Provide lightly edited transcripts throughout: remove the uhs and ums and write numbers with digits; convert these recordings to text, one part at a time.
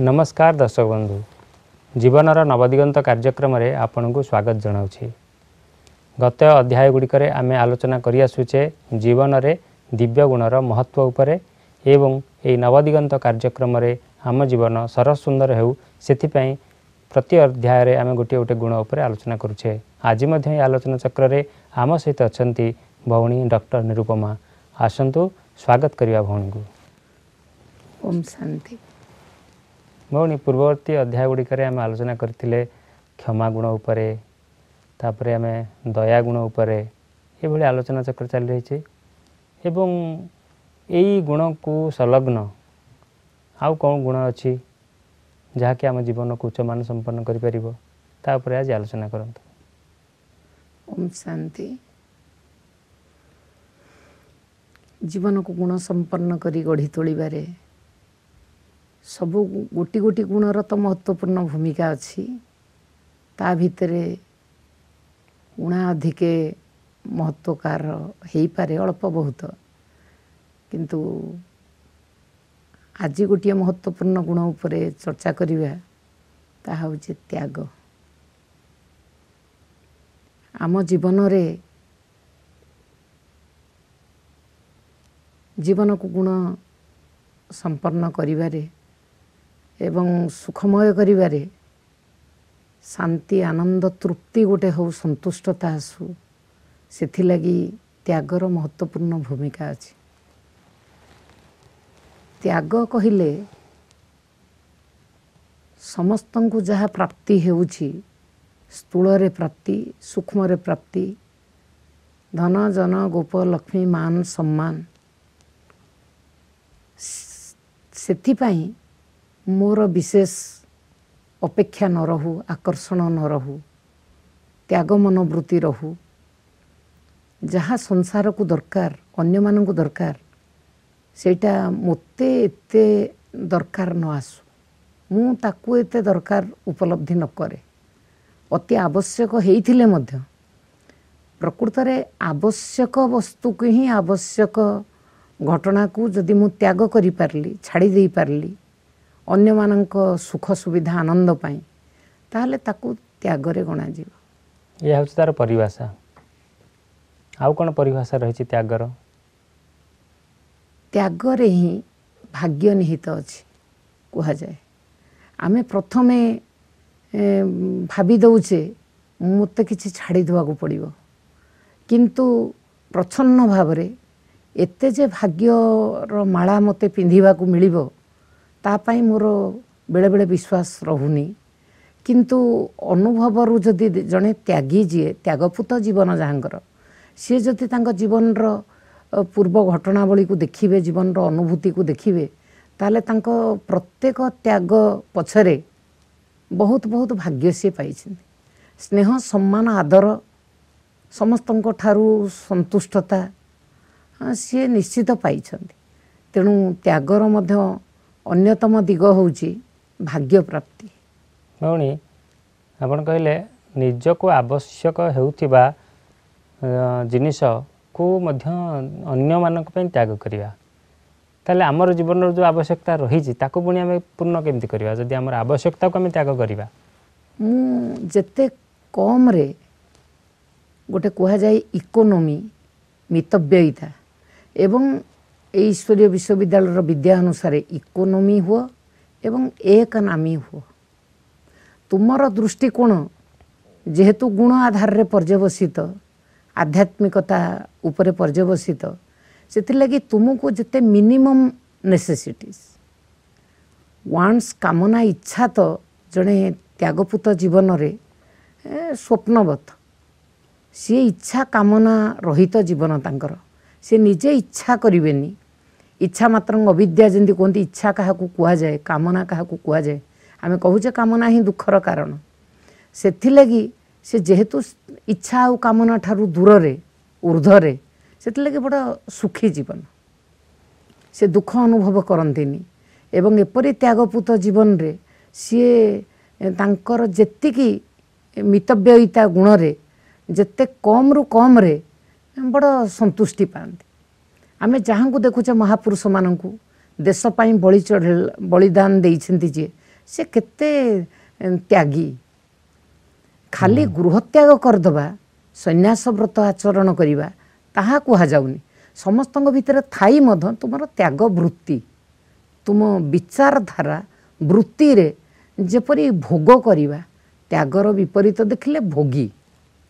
ନମସ୍କାର ଦର୍ଶକ ବନ୍ଧୁ, ଜୀବନର ନବଦିଗନ୍ତ କାର୍ଯ୍ୟକ୍ରମରେ ଆପଣଙ୍କୁ ସ୍ୱାଗତ ଜଣାଉଛି। ଗତ ଅଧ୍ୟାୟ ଗୁଡ଼ିକରେ ଆମେ ଆଲୋଚନା କରିଆସୁଛେ ଜୀବନରେ ଦିବ୍ୟ ଗୁଣର ମହତ୍ତ୍ୱ ଉପରେ ଏବଂ ଏହି ନବଦିଗନ୍ତ କାର୍ଯ୍ୟକ୍ରମରେ ଆମ ଜୀବନ ସରସ ସୁନ୍ଦର ହେଉ ସେଥିପାଇଁ ପ୍ରତି ଅଧ୍ୟାୟରେ ଆମେ ଗୋଟିଏ ଗୋଟିଏ ଗୁଣ ଉପରେ ଆଲୋଚନା କରୁଛେ। ଆଜି ମଧ୍ୟ ଏହି ଆଲୋଚନା ଚକ୍ରରେ ଆମ ସହିତ ଅଛନ୍ତି ଭଉଣୀ ଡକ୍ଟର ନିରୁପମା। ଆସନ୍ତୁ ସ୍ୱାଗତ କରିବା ଭଉଣୀଙ୍କୁ। ଓମ୍ ଶାନ୍ତି। ଭଉଣୀ, ପୂର୍ବବର୍ତ୍ତୀ ଅଧ୍ୟାୟ ଗୁଡ଼ିକରେ ଆମେ ଆଲୋଚନା କରିଥିଲେ କ୍ଷମା ଗୁଣ ଉପରେ, ତାପରେ ଆମେ ଦୟା ଗୁଣ ଉପରେ, ଏଭଳି ଆଲୋଚନା ଚକ୍ର ଚାଲି ରହିଛି। ଏବଂ ଏଇ ଗୁଣକୁ ସଂଲଗ୍ନ ଆଉ କ'ଣ ଗୁଣ ଅଛି ଯାହାକି ଆମ ଜୀବନକୁ ଉଚ୍ଚମାନ ସମ୍ପନ୍ନ କରିପାରିବ, ତା ଉପରେ ଆଜି ଆଲୋଚନା କରନ୍ତୁ। ଓମ୍ ଶାନ୍ତି। ଜୀବନକୁ ଗୁଣ ସମ୍ପନ୍ନ କରି ଗଢ଼ି ତୋଳିବାରେ ସବୁ ଗୋଟି ଗୋଟି ଗୁଣର ତ ମହତ୍ତ୍ୱପୂର୍ଣ୍ଣ ଭୂମିକା ଅଛି। ତା ଭିତରେ ଉଣା ଅଧିକେ ମହତ୍ତ୍ୱକାର ହେଇପାରେ ଅଳ୍ପ ବହୁତ, କିନ୍ତୁ ଆଜି ଗୋଟିଏ ମହତ୍ତ୍ୱପୂର୍ଣ୍ଣ ଗୁଣ ଉପରେ ଚର୍ଚ୍ଚା କରିବା, ତାହା ହେଉଛି ତ୍ୟାଗ। ଆମ ଜୀବନରେ ଜୀବନକୁ ଗୁଣ ସମ୍ପନ୍ନ କରିବାରେ ଏବଂ ସୁଖମୟ କରିବାରେ ଶାନ୍ତି, ଆନନ୍ଦ, ତୃପ୍ତି ଗୋଟେ ହେଉ, ସନ୍ତୁଷ୍ଟତା ଆସୁ, ସେଥିଲାଗି ତ୍ୟାଗର ମହତ୍ତ୍ୱପୂର୍ଣ୍ଣ ଭୂମିକା ଅଛି। ତ୍ୟାଗ କହିଲେ ସମସ୍ତଙ୍କୁ ଯାହା ପ୍ରାପ୍ତି ହେଉଛି, ସ୍ଥୂଳରେ ପ୍ରାପ୍ତି, ସୂକ୍ଷ୍ମରେ ପ୍ରାପ୍ତି, ଧନ, ଜନ, ଗୋପ, ଲକ୍ଷ୍ମୀ, ମାନ, ସମ୍ମାନ, ସେଥିପାଇଁ ମୋର ବିଶେଷ ଅପେକ୍ଷା ନ ରହୁ, ଆକର୍ଷଣ ନ ରହୁ, ତ୍ୟାଗ ମନୋବୃତ୍ତି ରହୁ। ଯାହା ସଂସାରକୁ ଦରକାର, ଅନ୍ୟମାନଙ୍କୁ ଦରକାର, ସେଇଟା ମୋତେ ଏତେ ଦରକାର ନ ଆସୁ, ମୁଁ ତାକୁ ଏତେ ଦରକାର ଉପଲବ୍ଧି ନ କରେ। ଅତି ଆବଶ୍ୟକ ହେଇଥିଲେ ମଧ୍ୟ ପ୍ରକୃତରେ ଆବଶ୍ୟକ ବସ୍ତୁକୁ ହିଁ, ଆବଶ୍ୟକ ଘଟଣାକୁ ଯଦି ମୁଁ ତ୍ୟାଗ କରିପାରିଲି, ଛାଡ଼ି ଦେଇପାରିଲି ଅନ୍ୟମାନଙ୍କ ସୁଖ ସୁବିଧା ଆନନ୍ଦ ପାଇଁ, ତାହେଲେ ତାକୁ ତ୍ୟାଗରେ ଗଣାଯିବ। ଏହା ହେଉଛି ତାର ପରିଭାଷା। ଆଉ କ'ଣ ପରିଭାଷା ରହିଛି ତ୍ୟାଗର? ତ୍ୟାଗରେ ହିଁ ଭାଗ୍ୟ ନିହିତ ଅଛି କୁହାଯାଏ। ଆମେ ପ୍ରଥମେ ଭାବି ଦେଉଛେ ମୋତେ କିଛି ଛାଡ଼ି ଦେବାକୁ ପଡ଼ିବ, କିନ୍ତୁ ପ୍ରଚ୍ଛନ୍ନ ଭାବରେ ଏତେ ଯେ ଭାଗ୍ୟର ମାଳା ମୋତେ ପିନ୍ଧିବାକୁ ମିଳିବ ତା ପାଇଁ ମୋର ବେଳେବେଳେ ବିଶ୍ୱାସ ରହୁନି। କିନ୍ତୁ ଅନୁଭବରୁ ଯଦି ଜଣେ ତ୍ୟାଗୀ, ଯିଏ ତ୍ୟାଗପୁତ ଜୀବନ ଯାହାଙ୍କର, ସିଏ ଯଦି ତାଙ୍କ ଜୀବନର ପୂର୍ବ ଘଟଣାବଳୀକୁ ଦେଖିବେ, ଜୀବନର ଅନୁଭୂତିକୁ ଦେଖିବେ, ତାହେଲେ ତାଙ୍କ ପ୍ରତ୍ୟେକ ତ୍ୟାଗ ପଛରେ ବହୁତ ବହୁତ ଭାଗ୍ୟ ସିଏ ପାଇଛନ୍ତି। ସ୍ନେହ, ସମ୍ମାନ, ଆଦର, ସମସ୍ତଙ୍କ ଠାରୁ ସନ୍ତୁଷ୍ଟତା ସିଏ ନିଶ୍ଚିତ ପାଇଛନ୍ତି। ତେଣୁ ତ୍ୟାଗର ମଧ୍ୟ ଅନ୍ୟତମ ଦିଗ ହେଉଛି ଭାଗ୍ୟ ପ୍ରାପ୍ତି। ଭଉଣୀ, ଆପଣ କହିଲେ ନିଜକୁ ଆବଶ୍ୟକ ହେଉଥିବା ଜିନିଷକୁ ମଧ୍ୟ ଅନ୍ୟମାନଙ୍କ ପାଇଁ ତ୍ୟାଗ କରିବା, ତାହେଲେ ଆମର ଜୀବନର ଯେଉଁ ଆବଶ୍ୟକତା ରହିଛି ତାକୁ ପୁଣି ଆମେ ପୂର୍ଣ୍ଣ କେମିତି କରିବା ଯଦି ଆମର ଆବଶ୍ୟକତାକୁ ଆମେ ତ୍ୟାଗ କରିବା? ମୁଁ ଯେତେ କମ୍ରେ, ଗୋଟେ କୁହାଯାଏ ଇକୋନୋମି, ମିତବ୍ୟୟିତା, ଏବଂ ଏଇ ଈଶ୍ୱରୀୟ ବିଶ୍ୱବିଦ୍ୟାଳୟର ବିଦ୍ୟା ଅନୁସାରେ ଇକୋନୋମି ହୁଅ ଏବଂ ଏକ ନାମୀ ହୁଅ। ତୁମର ଦୃଷ୍ଟିକୋଣ ଯେହେତୁ ଗୁଣ ଆଧାରରେ ପର୍ଯ୍ୟବସିତ, ଆଧ୍ୟାତ୍ମିକତା ଉପରେ ପର୍ଯ୍ୟବସିତ, ସେଥିଲାଗି ତୁମକୁ ଯେତେ ମିନିମମ୍ ନେସେସିଟିଜ୍, ୱାନ୍ସ, କାମନା, ଇଚ୍ଛା ତ ଜଣେ ତ୍ୟାଗପୁତ ଜୀବନରେ ସ୍ୱପ୍ନବତ। ସିଏ ଇଚ୍ଛା କାମନା ରହିତ ଜୀବନ ତାଙ୍କର। ସେ ନିଜେ ଇଚ୍ଛା କରିବେନି। ଇଚ୍ଛା ମାତ୍ରଙ୍କ ଅବିଦ୍ୟା ଯେମିତି କୁହନ୍ତି, ଇଚ୍ଛା କାହାକୁ କୁହାଯାଏ, କାମନା କାହାକୁ କୁହାଯାଏ, ଆମେ କହୁଛେ କାମନା ହିଁ ଦୁଃଖର କାରଣ। ସେଥିଲାଗି ସେ ଯେହେତୁ ଇଚ୍ଛା ଆଉ କାମନା ଠାରୁ ଦୂରରେ, ଉର୍ଦ୍ଧ୍ୱରେ, ସେଥିଲାଗି ବଡ଼ ସୁଖୀ ଜୀବନ। ସେ ଦୁଃଖ ଅନୁଭବ କରନ୍ତିନି। ଏବଂ ଏପରି ତ୍ୟାଗପୁତ ଜୀବନରେ ସିଏ ତାଙ୍କର ଯେତିକି ମିତବ୍ୟୟିତା ଗୁଣରେ ଯେତେ କମ୍ରୁ କମ୍ରେ ବଡ଼ ସନ୍ତୁଷ୍ଟି ପାଆନ୍ତି। ଆମେ ଯାହାଙ୍କୁ ଦେଖୁଛେ ମହାପୁରୁଷମାନଙ୍କୁ, ଦେଶ ପାଇଁ ବଳି ଚଢ଼ ବଳିଦାନ ଦେଇଛନ୍ତି ଯିଏ, ସେ କେତେ ତ୍ୟାଗୀ। ଖାଲି ଗୃହତ୍ୟାଗ କରିଦେବା, ସନ୍ନ୍ୟାସ ବ୍ରତ ଆଚରଣ କରିବା ତାହା କୁହାଯାଉନି। ସମସ୍ତଙ୍କ ଭିତରେ ଥାଇ ମଧ୍ୟ ତୁମର ତ୍ୟାଗ ବୃତ୍ତି, ତୁମ ବିଚାରଧାରା ବୃତ୍ତିରେ ଯେପରି ଭୋଗ କରିବା, ତ୍ୟାଗର ବିପରୀତ ଦେଖିଲେ ଭୋଗୀ,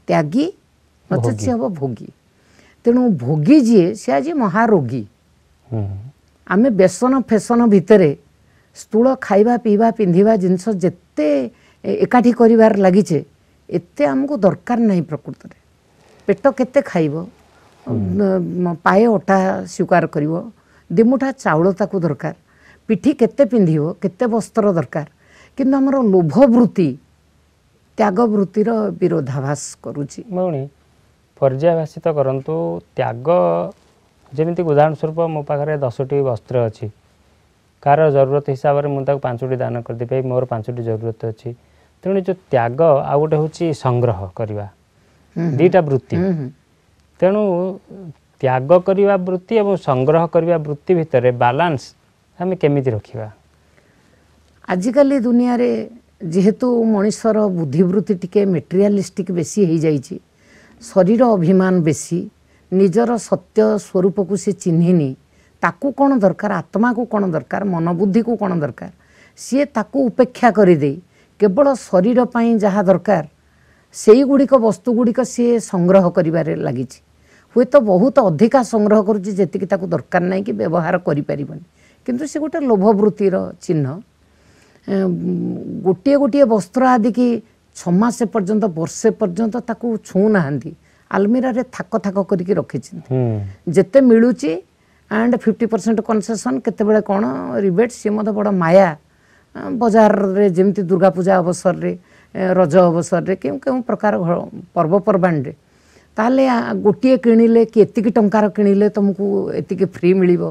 ତ୍ୟାଗୀ ନଚେତ୍ ସେ ହେବ ଭୋଗୀ। ତେଣୁ ଭୋଗୀ ଯିଏ ସେ ଆଜି ମହାରୋଗୀ। ଆମେ ବ୍ୟସନ ଫେସନ ଭିତରେ ସ୍ଥୂଳ ଖାଇବା ପିଇବା ପିନ୍ଧିବା ଜିନିଷ ଯେତେ ଏକାଠି କରିବାରେ ଲାଗିଛେ, ଏତେ ଆମକୁ ଦରକାର ନାହିଁ ପ୍ରକୃତରେ। ପେଟ କେତେ ଖାଇବ, ପାଏ ଅଟା ସ୍ୱୀକାର କରିବ, ଦିମୁଠା ଚାଉଳ ତାକୁ ଦରକାର, ପିଠି କେତେ ପିନ୍ଧିବ, କେତେ ବସ୍ତ୍ର ଦରକାର। କିନ୍ତୁ ଆମର ଲୋଭ ବୃତ୍ତି ତ୍ୟାଗ ବୃତ୍ତିର ବିରୋଧାଭାସ କରୁଛି। ଭଉଣୀ ପର୍ଯ୍ୟାଭାସିତ କରନ୍ତୁ ତ୍ୟାଗ। ଯେମିତି ଉଦାହରଣ ସ୍ୱରୂପ ମୋ ପାଖରେ 10ଟି ବସ୍ତ୍ର ଅଛି, କାହାର ଜରୁରତ ହିସାବରେ ମୁଁ ତାକୁ 5ଟି ଦାନ କରିଦେଇପାରିବି, ମୋର 5ଟି ଜରୁରତ ଅଛି। ତେଣୁ ଯେଉଁ ତ୍ୟାଗ ଆଉ ଗୋଟେ ହେଉଛି ସଂଗ୍ରହ କରିବା, ଦୁଇଟା ବୃତ୍ତି। ତେଣୁ ତ୍ୟାଗ କରିବା ବୃତ୍ତି ଏବଂ ସଂଗ୍ରହ କରିବା ବୃତ୍ତି ଭିତରେ ବାଲାନ୍ସ ଆମେ କେମିତି ରଖିବା? ଆଜିକାଲି ଦୁନିଆରେ ଯେହେତୁ ମଣିଷର ବୁଦ୍ଧିବୃତ୍ତି ଟିକେ ମେଟେରିଆଲିଷ୍ଟିକ୍ ବେଶୀ ହେଇଯାଇଛି, ଶରୀର ଅଭିମାନ ବେଶୀ, ନିଜର ସତ୍ୟ ସ୍ୱରୂପକୁ ସେ ଚିହ୍ନିନି, ତାକୁ କ'ଣ ଦରକାର, ଆତ୍ମାକୁ କ'ଣ ଦରକାର, ମନବୁଦ୍ଧିକୁ କ'ଣ ଦରକାର, ସିଏ ତାକୁ ଉପେକ୍ଷା କରିଦେଇ କେବଳ ଶରୀର ପାଇଁ ଯାହା ଦରକାର ସେଇଗୁଡ଼ିକ ବସ୍ତୁଗୁଡ଼ିକ ସିଏ ସଂଗ୍ରହ କରିବାରେ ଲାଗିଛି। ହୁଏତ ବହୁତ ଅଧିକା ସଂଗ୍ରହ କରୁଛି ଯେତିକି ତାକୁ ଦରକାର ନାହିଁ କି ବ୍ୟବହାର କରିପାରିବନି, କିନ୍ତୁ ସେ ଗୋଟେ ଲୋଭବୃତ୍ତିର ଚିହ୍ନ। ଗୋଟିଏ ଗୋଟିଏ ବସ୍ତ୍ର ଆଦିକି 6 ମାସ ପର୍ଯ୍ୟନ୍ତ, ବର୍ଷେ ପର୍ଯ୍ୟନ୍ତ ତାକୁ ଛୁଉଁନାହାନ୍ତି, ଆଲମିରାରେ ଥାକ ଥାକ କରିକି ରଖିଛନ୍ତି। ଯେତେ ମିଳୁଛି ଆଣ୍ଡ 50% କନସେସନ୍, କେତେବେଳେ କ'ଣ ରିବେଟ୍, ସିଏ ମଧ୍ୟ ବଡ଼ ମାୟା। ବଜାରରେ ଯେମିତି ଦୁର୍ଗା ପୂଜା ଅବସରରେ, ରଜ ଅବସରରେ, କେଉଁ କେଉଁ ପ୍ରକାର ପର୍ବପର୍ବାଣିରେ ତାହେଲେ ଗୋଟିଏ କିଣିଲେ କି ଏତିକି ଟଙ୍କାର କିଣିଲେ ତୁମକୁ ଏତିକି ଫ୍ରି ମିଳିବ,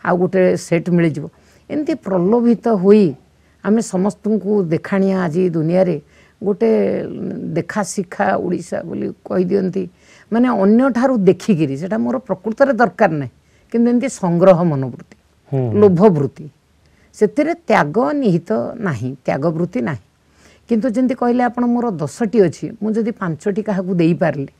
ଆଉ ଗୋଟେ ସେଟ୍ ମିଳିଯିବ। ଏମିତି ପ୍ରଲୋଭିତ ହୋଇ ଆମେ ସମସ୍ତଙ୍କୁ ଦେଖାଣିଆ ଆଜି ଦୁନିଆରେ ଗୋଟେ ଦେଖା ଶିଖା ଓଡ଼ିଶା ବୋଲି କହିଦିଅନ୍ତି, ମାନେ ଅନ୍ୟଠାରୁ ଦେଖିକିରି, ସେଇଟା ମୋର ପ୍ରକୃତରେ ଦରକାର ନାହିଁ, କିନ୍ତୁ ଏମିତି ସଂଗ୍ରହ ମନୋବୃତ୍ତି, ଲୋଭବୃତ୍ତି, ସେଥିରେ ତ୍ୟାଗ ନିହିତ ନାହିଁ, ତ୍ୟାଗ ବୃତ୍ତି ନାହିଁ। କିନ୍ତୁ ଯେମିତି କହିଲେ ଆପଣ, ମୋର 10ଟି ଅଛି, ମୁଁ ଯଦି 5ଟି କାହାକୁ ଦେଇପାରିଲି,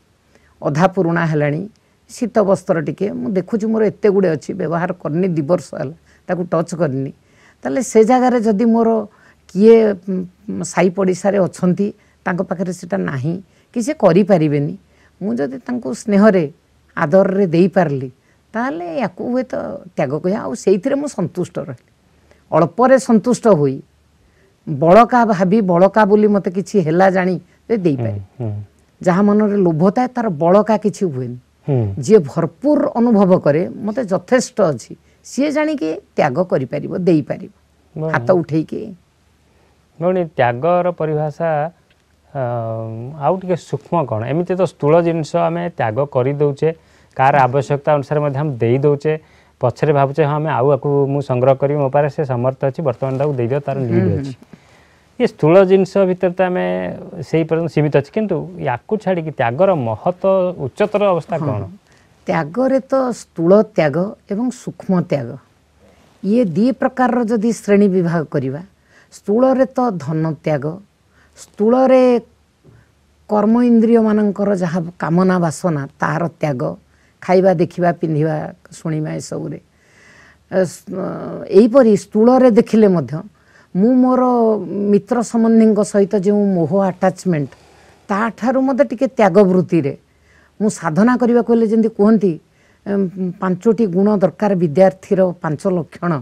ଅଧା ପୁରୁଣା ହେଲାଣି, ଶୀତ ବସ୍ତ୍ର ଟିକେ ମୁଁ ଦେଖୁଛି ମୋର ଏତେ ଗୁଡ଼ିଏ ଅଛି, ବ୍ୟବହାର କରିନି 2 ବର୍ଷ ହେଲା, ତାକୁ ଟଚ୍ କରିନି, ତାହେଲେ ସେ ଜାଗାରେ ଯଦି ମୋର କିଏ ସାହି ପଡ଼ିଶାରେ ଅଛନ୍ତି ତାଙ୍କ ପାଖରେ ସେଇଟା ନାହିଁ କି ସେ କରିପାରିବେନି, ମୁଁ ଯଦି ତାଙ୍କୁ ସ୍ନେହରେ ଆଦରରେ ଦେଇପାରିଲି, ତାହେଲେ ୟାକୁ ହୁଏତ ତ୍ୟାଗ କହିବା। ଆଉ ସେଇଥିରେ ମୁଁ ସନ୍ତୁଷ୍ଟ ରହିଲି, ଅଳ୍ପରେ ସନ୍ତୁଷ୍ଟ ହୋଇ ବଳକା ଭାବି, ବଳକା ବୋଲି ମୋତେ କିଛି ହେଲା ଜାଣି ଦେଇପାରିବି। ଯାହା ମନରେ ଲୋଭ ଥାଏ ତାର ବଳକା କିଛି ହୁଏନି, ଯିଏ ଭରପୁର ଅନୁଭବ କରେ ମୋତେ ଯଥେଷ୍ଟ ଅଛି, ସିଏ ଜାଣିକି ତ୍ୟାଗ କରିପାରିବ, ଦେଇପାରିବ ହାତ ଉଠେଇକି। ଭଉଣୀ ତ୍ୟାଗର ପରିଭାଷା ଆଉ ଟିକେ ସୂକ୍ଷ୍ମ କ'ଣ? ଏମିତି ତ ସ୍ଥୂଳ ଜିନିଷ ଆମେ ତ୍ୟାଗ କରିଦେଉଛେ, କାହାର ଆବଶ୍ୟକତା ଅନୁସାରେ ମଧ୍ୟ ଆମେ ଦେଇଦେଉଛେ, ପଛରେ ଭାବୁଛେ ହଁ ଆମେ ଆଉ ଆକୁ ମୁଁ ସଂଗ୍ରହ କରିବି, ମୋ ପାଖରେ ସେ ସମର୍ଥ ଅଛି, ବର୍ତ୍ତମାନ ତାକୁ ଦେଇଦିଅ, ତାର ନିଡ୍ ଅଛି। ଏ ସ୍ଥୂଳ ଜିନିଷ ଭିତରେ ତ ଆମେ ସେଇ ପର୍ଯ୍ୟନ୍ତ ସୀମିତ ଅଛି, କିନ୍ତୁ ୟାକୁ ଛାଡ଼ିକି ତ୍ୟାଗର ମହତ ଉଚ୍ଚତର ଅବସ୍ଥା କ'ଣ? ତ୍ୟାଗରେ ତ ସ୍ଥୂଳ ତ୍ୟାଗ ଏବଂ ସୂକ୍ଷ୍ମ ତ୍ୟାଗ, ଇଏ ଦୁଇ ପ୍ରକାରର ଯଦି ଶ୍ରେଣୀ ବିଭାଗ କରିବା, ସ୍ଥୂଳରେ ତ ଧନ ତ୍ୟାଗ, ସ୍ଥୂଳରେ କର୍ମ ଇନ୍ଦ୍ରିୟମାନଙ୍କର ଯାହା କାମନା ବାସନା ତାହାର ତ୍ୟାଗ, ଖାଇବା ଦେଖିବା ପିନ୍ଧିବା ଶୁଣିବା ଏସବୁରେ। ଏହିପରି ସ୍ଥୂଳରେ ଦେଖିଲେ ମଧ୍ୟ ମୁଁ ମୋର ମିତ୍ର ସମ୍ବନ୍ଧୀଙ୍କ ସହିତ ଯେଉଁ ମୋହ ଆଟାଚମେଣ୍ଟ, ତାଠାରୁ ମଧ୍ୟ ଟିକେ ତ୍ୟାଗ ବୃତ୍ତିରେ ମୁଁ ସାଧନା କରିବାକୁ ହେଲେ, ଯେମିତି କୁହନ୍ତି 5ଟି ଗୁଣ ଦରକାର ବିଦ୍ୟାର୍ଥୀର, 5 ଲକ୍ଷଣ,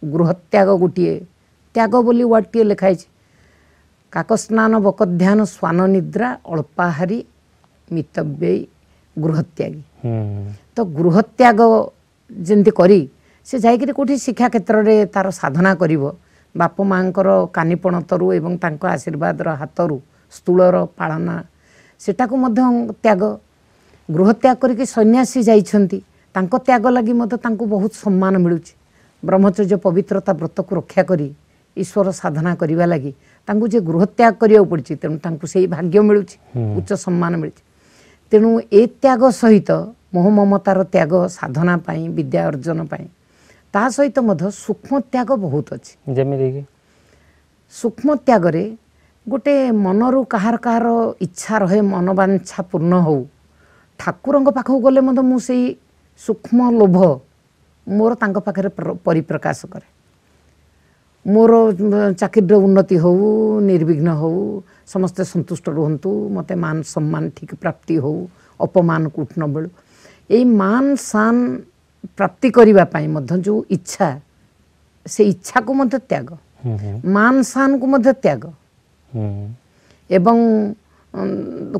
ଗୃହତ୍ୟାଗ ଗୋଟିଏ, ତ୍ୟାଗ ବୋଲି ୱାର୍ଡ଼ଟିଏ ଲେଖା ହେଇଛି, କାକସ୍ନାନ ବକଧ୍ୟାନ ଶ୍ୱାନ ନିଦ୍ରା ଅଳ୍ପାହାରୀ ମିତବ୍ୟୟୀ ଗୃହତ୍ୟାଗୀ। ତ ଗୃହତ୍ୟାଗ ଯେମିତି କରି ସେ ଯାଇକରି କେଉଁଠି ଶିକ୍ଷା କ୍ଷେତ୍ରରେ ତାର ସାଧନା କରିବ, ବାପ ମାଆଙ୍କର କାନିପଣତରୁ ଏବଂ ତାଙ୍କ ଆଶୀର୍ବାଦର ହାତରୁ ସ୍ଥୂଳର ପାଳନା, ସେଟାକୁ ମଧ୍ୟ ତ୍ୟାଗ। ଗୃହତ୍ୟାଗ କରିକି ସନ୍ନ୍ୟାସୀ ଯାଇଛନ୍ତି, ତାଙ୍କ ତ୍ୟାଗ ଲାଗି ମଧ୍ୟ ତାଙ୍କୁ ବହୁତ ସମ୍ମାନ ମିଳୁଛି। ବ୍ରହ୍ମଚର୍ଯ୍ୟ ପବିତ୍ରତା ବ୍ରତକୁ ରକ୍ଷା କରି ଈଶ୍ୱର ସାଧନା କରିବା ଲାଗି ତାଙ୍କୁ ଯେ ଗୃହତ୍ୟାଗ କରିବାକୁ ପଡ଼ିଛି, ତେଣୁ ତାଙ୍କୁ ସେଇ ଭାଗ୍ୟ ମିଳୁଛି, ଉଚ୍ଚ ସମ୍ମାନ ମିଳୁଛି। ତେଣୁ ଏ ତ୍ୟାଗ ସହିତ ମୋହ ମମତାର ତ୍ୟାଗ ସାଧନା ପାଇଁ, ବିଦ୍ୟା ଅର୍ଜନ ପାଇଁ, ତା ସହିତ ମଧ୍ୟ ସୂକ୍ଷ୍ମ ତ୍ୟାଗ ବହୁତ ଅଛି। ଯେମିତିକି ସୂକ୍ଷ୍ମ ତ୍ୟାଗରେ ଗୋଟେ ମନରୁ କାହାର କାହାର ଇଚ୍ଛା ରହେ, ମନବାଞ୍ଛା ପୂର୍ଣ୍ଣ ହଉ, ଠାକୁରଙ୍କ ପାଖକୁ ଗଲେ ମଧ୍ୟ ମୁଁ ସେଇ ସୂକ୍ଷ୍ମ ଲୋଭ ମୋର ତାଙ୍କ ପାଖରେ ପରିପ୍ରକାଶ କରେ। ମୋର ଚାକିରିର ଉନ୍ନତି ହଉ, ନିର୍ବିଘ୍ନ ହଉ, ସମସ୍ତେ ସନ୍ତୁଷ୍ଟ ରୁହନ୍ତୁ, ମୋତେ ମାନ ସମ୍ମାନ ଠିକ୍ ପ୍ରାପ୍ତି ହଉ, ଅପମାନ କୋଉଠି ନ ମିଳୁ। ଏଇ ମାନ ସାନ ପ୍ରାପ୍ତି କରିବା ପାଇଁ ମଧ୍ୟ ଯେଉଁ ଇଚ୍ଛା, ସେ ଇଚ୍ଛାକୁ ମଧ୍ୟ ତ୍ୟାଗ, ମାନ ସାନକୁ ମଧ୍ୟ ତ୍ୟାଗ। ଏବଂ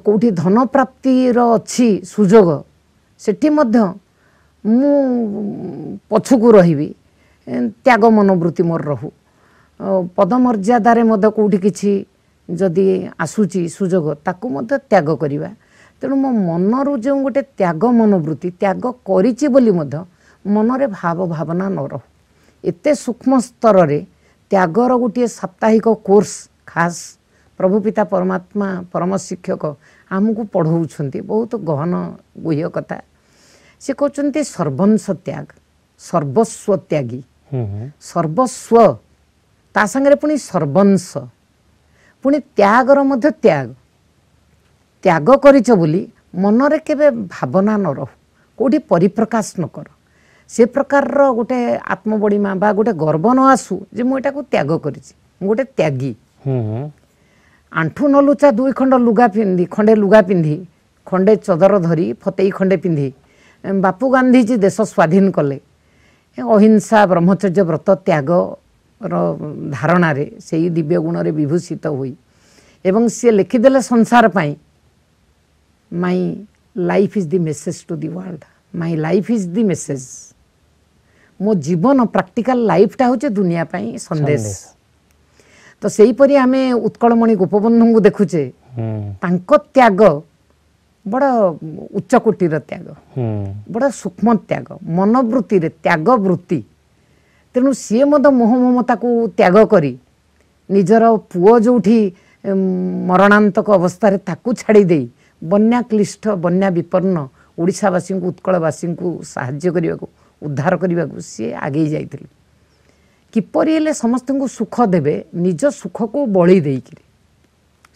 କେଉଁଠି ଧନ ପ୍ରାପ୍ତିର ଅଛି ସୁଯୋଗ, ସେଠି ମଧ୍ୟ ମୁଁ ପଛକୁ ରହିବି, ତ୍ୟାଗ ମନୋବୃତ୍ତି ମୋର ରହୁ। ପଦମର୍ଯ୍ୟାଦାରେ ମଧ୍ୟ କେଉଁଠି କିଛି ଯଦି ଆସୁଛି ସୁଯୋଗ, ତାକୁ ମଧ୍ୟ ତ୍ୟାଗ କରିବା। ତେଣୁ ମୋ ମନରୁ ଯେଉଁ ଗୋଟେ ତ୍ୟାଗ ମନୋବୃତ୍ତି, ତ୍ୟାଗ କରିଛି ବୋଲି ମଧ୍ୟ ମନରେ ଭାବ ଭାବନା ନ ରହୁ। ଏତେ ସୂକ୍ଷ୍ମ ସ୍ତରରେ ତ୍ୟାଗର ଗୋଟିଏ ସାପ୍ତାହିକ କୋର୍ସ ଖାସ୍ ପ୍ରଭୁ ପିତା ପରମାତ୍ମା ପରମ ଶିକ୍ଷକ ଆମକୁ ପଢ଼ଉଛନ୍ତି। ବହୁତ ଗହନ ଗୁହ୍ୟ କଥା। ସେ କହୁଛନ୍ତି ସର୍ବଂଶ ତ୍ୟାଗ, ସର୍ବସ୍ୱ ତ୍ୟାଗୀ, ସର୍ବସ୍ୱ ତା ସାଙ୍ଗରେ ପୁଣି ସର୍ବଂଶ, ପୁଣି ତ୍ୟାଗର ମଧ୍ୟ ତ୍ୟାଗ। ତ୍ୟାଗ କରିଛ ବୋଲି ମନରେ କେବେ ଭାବନା ନ ରହୁ, କେଉଁଠି ପରିପ୍ରକାଶ ନ କର। ସେ ପ୍ରକାରର ଗୋଟେ ଆତ୍ମବଡ଼ିମା ବା ଗୋଟେ ଗର୍ବ ନ ଆସୁ ଯେ ମୁଁ ଏଟାକୁ ତ୍ୟାଗ କରିଛି, ମୁଁ ଗୋଟେ ତ୍ୟାଗୀ। ଆଣ୍ଠୁ ନଲୁଚା ଦୁଇ ଖଣ୍ଡ ଲୁଗା ପିନ୍ଧି, ଖଣ୍ଡେ ଲୁଗା ପିନ୍ଧି, ଖଣ୍ଡେ ଚଦର ଧରି, ଫତେଇ ଖଣ୍ଡେ ପିନ୍ଧି ବାପୁ ଗାନ୍ଧୀଜୀ ଦେଶ ସ୍ୱାଧୀନ କଲେ। ଅହିଂସା, ବ୍ରହ୍ମଚର୍ଯ୍ୟ ବ୍ରତ, ତ୍ୟାଗର ଧାରଣାରେ ସେଇ ଦିବ୍ୟ ଗୁଣରେ ବିଭୂଷିତ ହୋଇ, ଏବଂ ସିଏ ଲେଖିଦେଲେ ସଂସାର ପାଇଁ, my life is the message to the world, my life is the message. ମୋ ଜୀବନ ପ୍ରାକ୍ଟିକାଲ ଲାଇଫଟା ହେଉଛି ଦୁନିଆ ପାଇଁ ସନ୍ଦେଶ। ତ ସେହିପରି ଆମେ ଉତ୍କଳମଣି ଗୋପବନ୍ଧୁଙ୍କୁ ଦେଖୁଛେ, ତାଙ୍କ ତ୍ୟାଗ ବଡ଼ ଉଚ୍ଚ କୋଟିର ତ୍ୟାଗ, ବଡ଼ ସୂକ୍ଷ୍ମ ତ୍ୟାଗ, ମନୋବୃତ୍ତିରେ ତ୍ୟାଗ ବୃତ୍ତି। ତେଣୁ ସିଏ ମଧ୍ୟ ମୋହ ମମତାକୁ ତ୍ୟାଗ କରି ନିଜର ପୁଅ ଯେଉଁଠି ମରଣାନ୍ତକ ଅବସ୍ଥାରେ ତାକୁ ଛାଡ଼ି ଦେଇ ବନ୍ୟା କ୍ଲିଷ୍ଟ, ବନ୍ୟା ବିପନ୍ନ ଓଡ଼ିଶାବାସୀଙ୍କୁ, ଉତ୍କଳବାସୀଙ୍କୁ ସାହାଯ୍ୟ କରିବାକୁ, ଉଦ୍ଧାର କରିବାକୁ ସିଏ ଆଗେଇ ଯାଇଥିଲେ। କିପରି ହେଲେ ସମସ୍ତଙ୍କୁ ସୁଖ ଦେବେ, ନିଜ ସୁଖକୁ ବଳି ଦେଇକିରି,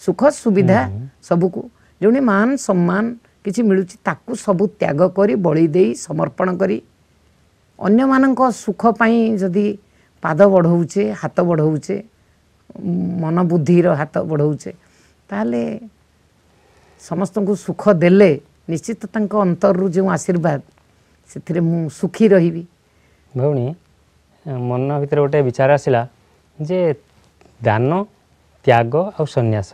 ସୁଖ ସୁବିଧା ସବୁକୁ, ଯେଉଁଠି ମାନ ସମ୍ମାନ କିଛି ମିଳୁଛି ତାକୁ ସବୁ ତ୍ୟାଗ କରି, ବଳି ଦେଇ, ସମର୍ପଣ କରି ଅନ୍ୟମାନଙ୍କ ସୁଖ ପାଇଁ ଯଦି ପାଦ ବଢ଼ଉଛେ, ହାତ ବଢ଼ଉଛେ, ମନ ବୁଦ୍ଧିର ହାତ ବଢ଼ଉଛେ, ତାହେଲେ ସମସ୍ତଙ୍କୁ ସୁଖ ଦେଲେ ନିଶ୍ଚିତ ତାଙ୍କ ଅନ୍ତରରୁ ଯେଉଁ ଆଶୀର୍ବାଦ, ସେଥିରେ ମୁଁ ସୁଖୀ ରହିବି। ଭଉଣୀ, ମନ ଭିତରେ ଗୋଟେ ବିଚାର ଆସିଲା ଯେ ଦାନ, ତ୍ୟାଗ ଆଉ ସନ୍ନ୍ୟାସ।